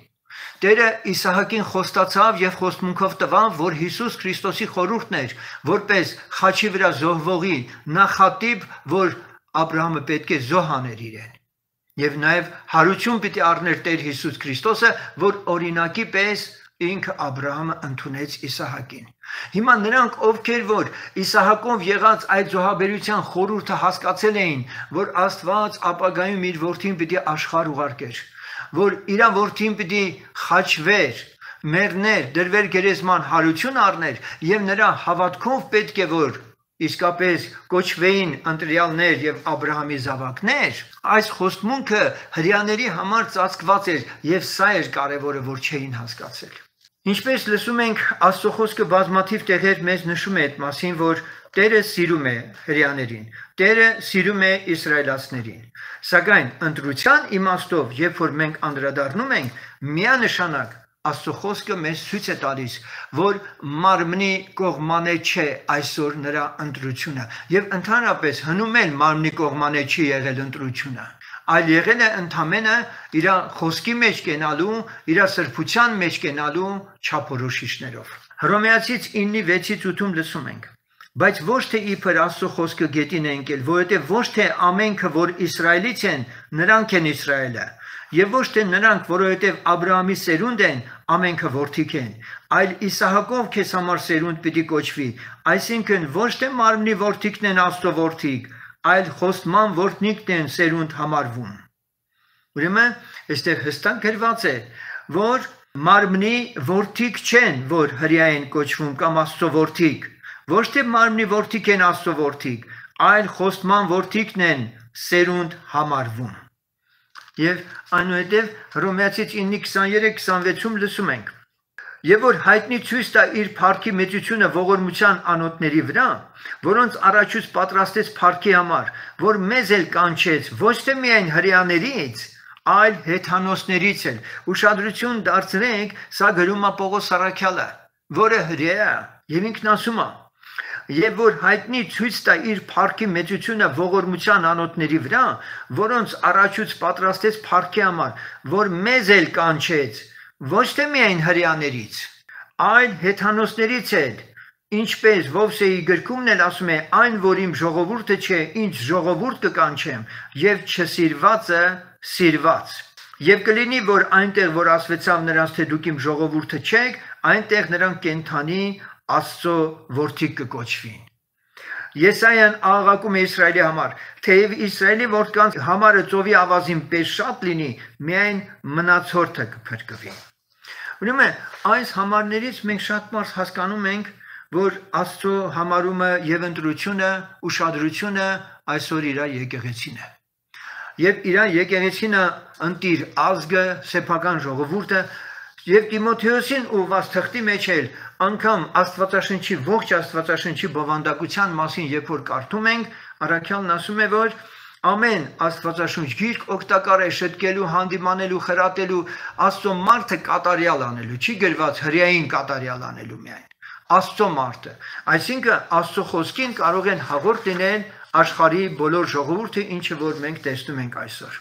Տերը Իսահակին խոստացավ եւ խոստմունքով տվավ, որ Հիսուս Քրիստոսի խորհուրդն էր, որպես խաչի վրա զոհվողի նախատիպ, որ Աբրահամը պետք է զոհաներ իրեն։ Եվ նաեւ հարություն պիտի առներ Տեր Հիսուս Քրիստոսը, որ օրինակի պես ինքը Աբրահամը ընդունեց Իսահակին։ Հիմա նրանք, ովքեր որ Իսահակով եղած այդ զոհաբերության խորհուրդը հասկացել էին, որ Աստված ապագայում իր որդին պիտի աշխարհ ուղարկեր, որ իր որդին պիտի խաչվեր, մեռներ, դրվեր գերեզման, հարություն առներ եւ նրա հավատքով պետք է որ իսկապես կոչվեին ընտրյալներ եւ Աբրահամի զավակներ, այս խոստմունքը հրեաների համար ծածկված էր եւ սա էր կարեւորը, որ չէին հասկացել։ Ինչպես լսում ենք, Աստծո խոսքը բազմաթիվ տեղեր մեզ նշում է այդ մասին, որ Տերը սիրում է հրեաներին, Տերը սիրում է իսրայելացիներին։ Սակայն ընտրության իմաստով, երբ որ մենք անդրադառնում ենք, միանշանակ Աստծո խոսքը մեզ ցույց է տալիս, որ մարմնի կողմանե չէ այսօր նրա ընտրությունը, եւ ընդհանրապես հնում էլ մարմնի կողմանե չի եղել ընտրությունը, այլ եղել է ընդամենը իր խոսքի մեջ կենալու, իր սրբության մեջ կենալու չափորոշիչներով։ Հռոմեացից 9:6-8-ում լսում ենք. բայց ոչ թե իբր Աստծո խոսքը գետին է ընկել, որովհետև ոչ թե ամենքը, որ Իսրայելից են, նրանք են Իսրայելը, եւ ոչ թե նրանք, որովհետև Աբրահամի սերունդ են, ամենքը որդիք են, այլ Իսահակով քեզ համար սերունդ պիտի կոչվի, այսինքն ոչ թե մարմնի որդիքն են Աստծո որդիք, այլ խոստման որդնիկն են սերունդ համարվում։ Ուրեմն, այստեղ հստակ գրված է, որ մարմնի որդիք չեն, որ հրեա են կոչվում կամ Աստծո որդիք, ոչ թե մարմնի որդիք են Աստծո որդիք, այլ խոստման որդիքն են սերունդ համարվում։ Եվ այնուհետև Հռոմեացից 9:23-26-ում լսում ենք. Եվ որ հայտնի ցույց տա իր փառքի մեծությունը ողորմության անոթների վրա, որոնց առաջուց պատրաստեց փառքի համար, որ մեզ էլ կանչեց ոչ թե միայն հրեաներից, այլ հեթանոսներից էլ։ Ուշադրություն դարձրեք, սա գրում է Պողոս առաքյալը, որը հրեա է, եւ ինքն ասում է. Եվ որ հայտնի ցույց տա իր փառքի մեծությունը ողորմության անոթների վրա, որոնց առաջուց պատրաստեց փառքի համար, որ մեզ էլ կանչեց, ոչ թե միայն հրեաներից, այլ հեթանոսներից էլ, ինչպես Ովսեի գրքումն էլ ասում է, այն, որ իմ ժողովուրդը չէ, ինձ ժողովուրդ կկանչեմ, եւ չսիրվածը սիրված։ Եվ կլինի, որ այնտեղ, որ ասվեցավ նրանց, թե դուք իմ ժողովուրդը չեք, այնտեղ նրանք կենթանի Աստծո որդիք կկոչվին։ Եսայան աղաղակում է Իսրայելի համար, թեև Իսրայելի որդկանց համարը ծովի ավազին պես շատ լինի, միայն մնացորդը կփրկվի։ Ուրեմն այս համարներից մենք շատ բարձ հասկանում ենք, որ Աստծո համարումը եւ ընտրությունը, ուշադրությունը այսօր իր եկեղեցին է։ Եվ իր եկեղեցինը ընտիր ազգը, սեփական ժողովուրդը եւ Տիմոթեոսին ուղված թղթի մեջ էլ անգամ Աստվածաշնչի ողջ Աստվածաշնչի բովանդակության մասին երբ որ կարդում ենք, առաքյալն ասում է, որ ամեն Աստվածաշունչ գիրք օգտակար է շտկելու, հանդիմանելու, խրատելու, Աստծո մարդը կատարյալ անելու, չի գրված հրեային կատարյալ անելու միայն, Աստծո մարդը, այսինքն Աստծո խոսքին կարող են հաղորդ լինել աշխարհի բոլոր ժողովուրդը, ինչը որ մենք տեսնում ենք այսօր։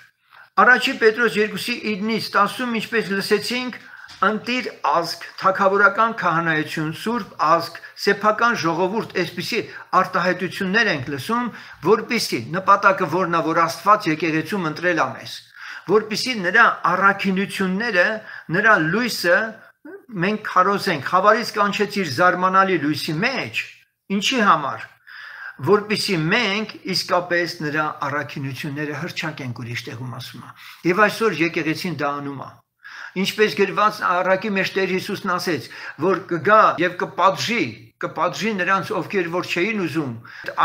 Առաջի Պետրոս 2:9-ից 10-ում ինչպես լսեցինք, ընտիր ազգ, թագավորական քահանայություն, սուրբ ազգ, սեփական ժողովուրդ, այսպիսի արտահայտություններ ենք լսում, որպիսի նպատակը որն է, որ Աստված եկեղեցում ընտրել է մեզ, որպիսի նրա առաքինությունները, նրա լույսը մենք քարոզենք, խավարից կանչեցիր զարմանալի լույսի մեջ, ինչի համար, որպիսի մենք իսկապես նրա առաքինությունները հրճակենք, ուրիշ տեղում ասում է։ Եվ այսօր եկեղեցին դա անում է։ Ինչպես գրված առակի մեջ Տեր Հիսուսն ասեց, որ կգա եւ կպատժի նրանց, ովքեր որ չէին ուզում,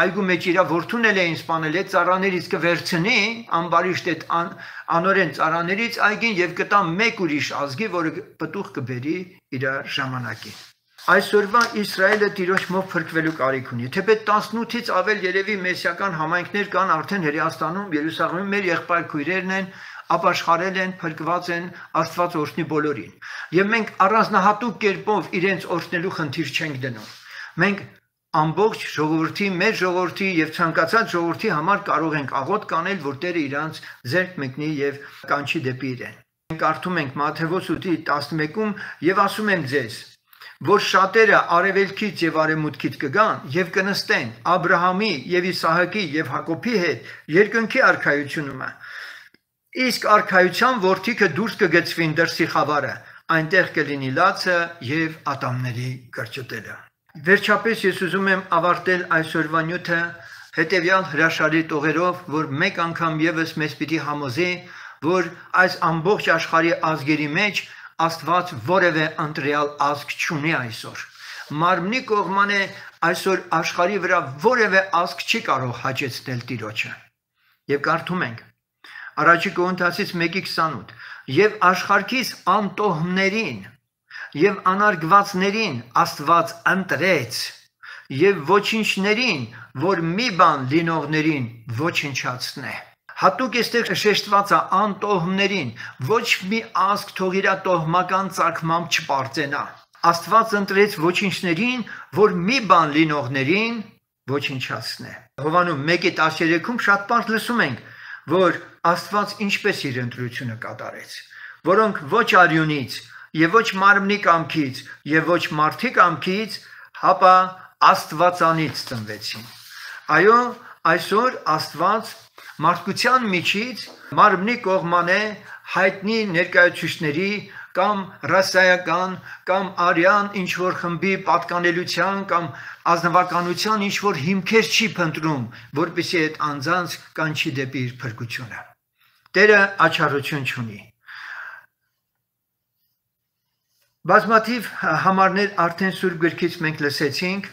այգու մեջ իր որդուն էին սպանել, այդ ծառաներից կվերցնի, ամբարիշտ այդ անորեն ծառաներից այգին եւ կտա մեկ ուրիշ ազգի, որը պտուղ կբերի իր ժամանակին։ Այսօրվա Իսրայելը Տիրոջմով փրկվելու կարիք ունի։ Թեպետ 18-ից ավել երևի մեսիական համայնքներ կան արդեն Հրեաստանում, Երուսաղեմում, մեր եղբայր քույրերն են, ապաշխարել են, փրկված են, Աստված օրհնի բոլորին։ Եվ մենք առանձնահատուկ կերպով իրենց օրհնելու խնդիր չենք դնում։ Մենք ամբողջ ժողովրդի, մեր ժողովրդի եւ ցանկացած ժողովրդի համար կարող ենք աղոտ կանել, որ Տերը իրանց ձեռք մեկնի եւ կանչի դեպի իրեն։ Մենք կարդում ենք Մատթեոս 8:11-ում եւ ասում եմ ձեզ, որ շատերը արևելքից եւ արևմուտքից կգան եւ կնստեն Աբրահամի եւ Իսահակի եւ Հակոբի հետ երկնքի արքայությունում։ Իսկ արքայության որդիքը դուրս կգցվին դրսի խավարը, այնտեղ կլինի լացը եւ ատամների կրճտելը։ Վերջապես ես ուզում եմ ավարտել այսօրվա նյութը հետեւյալ հրաշալի տողերով, որ մեկ անգամ եւս մեզ պիտի համոզի, որ այս ամբողջ աշխարհի ազգերի մեջ Աստված որևէ ընտրյալ ազգ չունի այսօր։ Մարմնի կողմանը այսօր աշխարհի վրա որևէ ազգ չի կարող հաճեցնել Տիրոջը։ Եվ կարդում ենք Առաջի Կորինթացից 1:28 եւ աշխարհքից անտոհներին եւ անարգվածներին Աստված ընտրեց եւ ոչինչներին, որ մի բան լինողներին ոչնչացնե։ Հատուկ էստեղ շեշտված է անտոհմներին, ոչ մի ազգ թող իր տոհմական ծագմամբ չպարծենա։ Աստված ընտրեց ոչինչներին, որ մի բան լինողներին ոչնչացնե։ Հովաննում 1:13-ում շատ բան լսում ենք, որ Աստված ինչպես իր ընտրությունը կատարեց, որոնք ոչ արյունից եւ ոչ մարմնի կամքից եւ ոչ մարդի կամքից, հապա Աստվածանից ծնվեցին։ Այո, այսօր Աստված մարդկության միջից մարմնի կողմանը հայտնի ներկայացուցիչների կամ ռասայական կամ արյան ինչ-որ խմբի պատկանելության կամ ազնվականության ինչ-որ հիմքեր չի փնտրում, որպեսզի այդ անձանց կանչի դեպի իր փրկությունը։ Տերը աչառություն չունի։ Բազմաթիվ համարներ արդեն Սուրբ գրքից մենք լսեցինք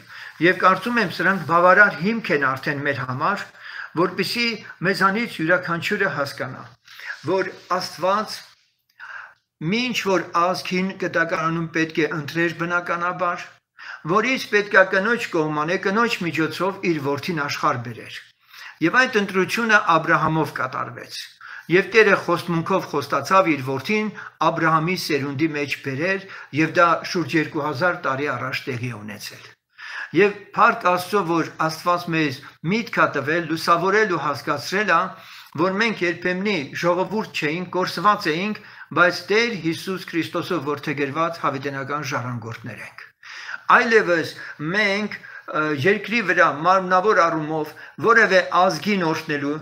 եւ կարծում եմ սրանք բավարար հիմք են արդեն մեր համար, որպեսզի մեզանից յուրաքանչյուրը հասկանա, որ Աստված ինչ որ ազգին կտակարանում պետք է ընտրեր բնականաբար, որից պետք է կնոջ կողմանը կնոջ միջոցով իր որդին աշխարհ բերեր։ Եվ այդ ընտրությունը Աբրահամով կատարվեց։ Եվ Տերը խոստմունքով խոստացավ իր որդին Աբրահամի սերունդի մեջ բերեր, եւ դա շուրջ 2000 տարի առաջ տեղի ունեցել։ Եվ փառք Աստծո, որ Աստված մեզ միտք է տվել, լուսավորել ու հասկացրել է, որ մենք երբեմնի ժողովուրդ չէինք, կորսված էինք, բայց Տեր Հիսուս Քրիստոսով որդեգրված հավիտենական ժառանգորդներ ենք։ Այլևս մենք երկրի վրա մարմնավոր առումով որևէ ազգին օրհնելու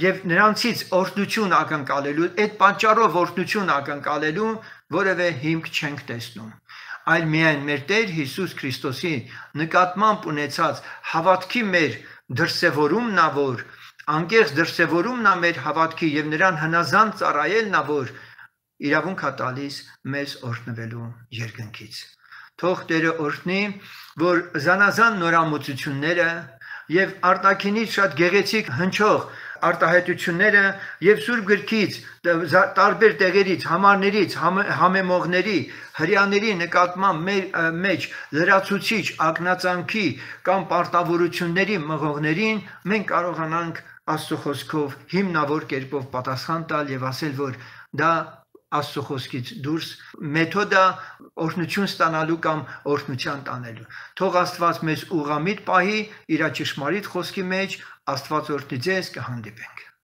եւ նրանցից օրհնություն ակնկալելու, այդ պատճառով օրհնություն ակնկալելու որևէ հիմք չենք տեսնում։ Այլ միայն մեր Տեր Հիսուս Քրիստոսի նկատմամբ ունեցած հավատքի մեր դրսևորումն է, որ անկեղծ դրսևորումն է մեր հավատքի եւ նրան հնազանդ ծառայելն է, որ իրավունք է տալիս մեզ օրհնվելու երկնքից։ թող Տերը օրհնի, որ զանազան նորամուծությունները եւ արտաքինից շատ գեղեցիկ հնչող արտահայտությունները եւ Սուրբ գրքից տարբեր տեղերից, համարներից, համեմողների, հрьяաների նկատմամբ մեր մեջ լրացուցիչ ակնածանքի կամ պարտավորությունների մղողներին մենք կարողանանք Աստծո խոսքով հիմնավոր կերպով պատասխան տալ եւ ասել, որ դա Աստծո խոսքից դուրս մեթոդը օրհնություն ստանալու կամ օրհնության տանելու։ Թող Աստված մեզ ուղղամիտ պահի իր ճշմարիտ խոսքի մեջ, Աստված օրհնի ձեզ, կհանդիպենք։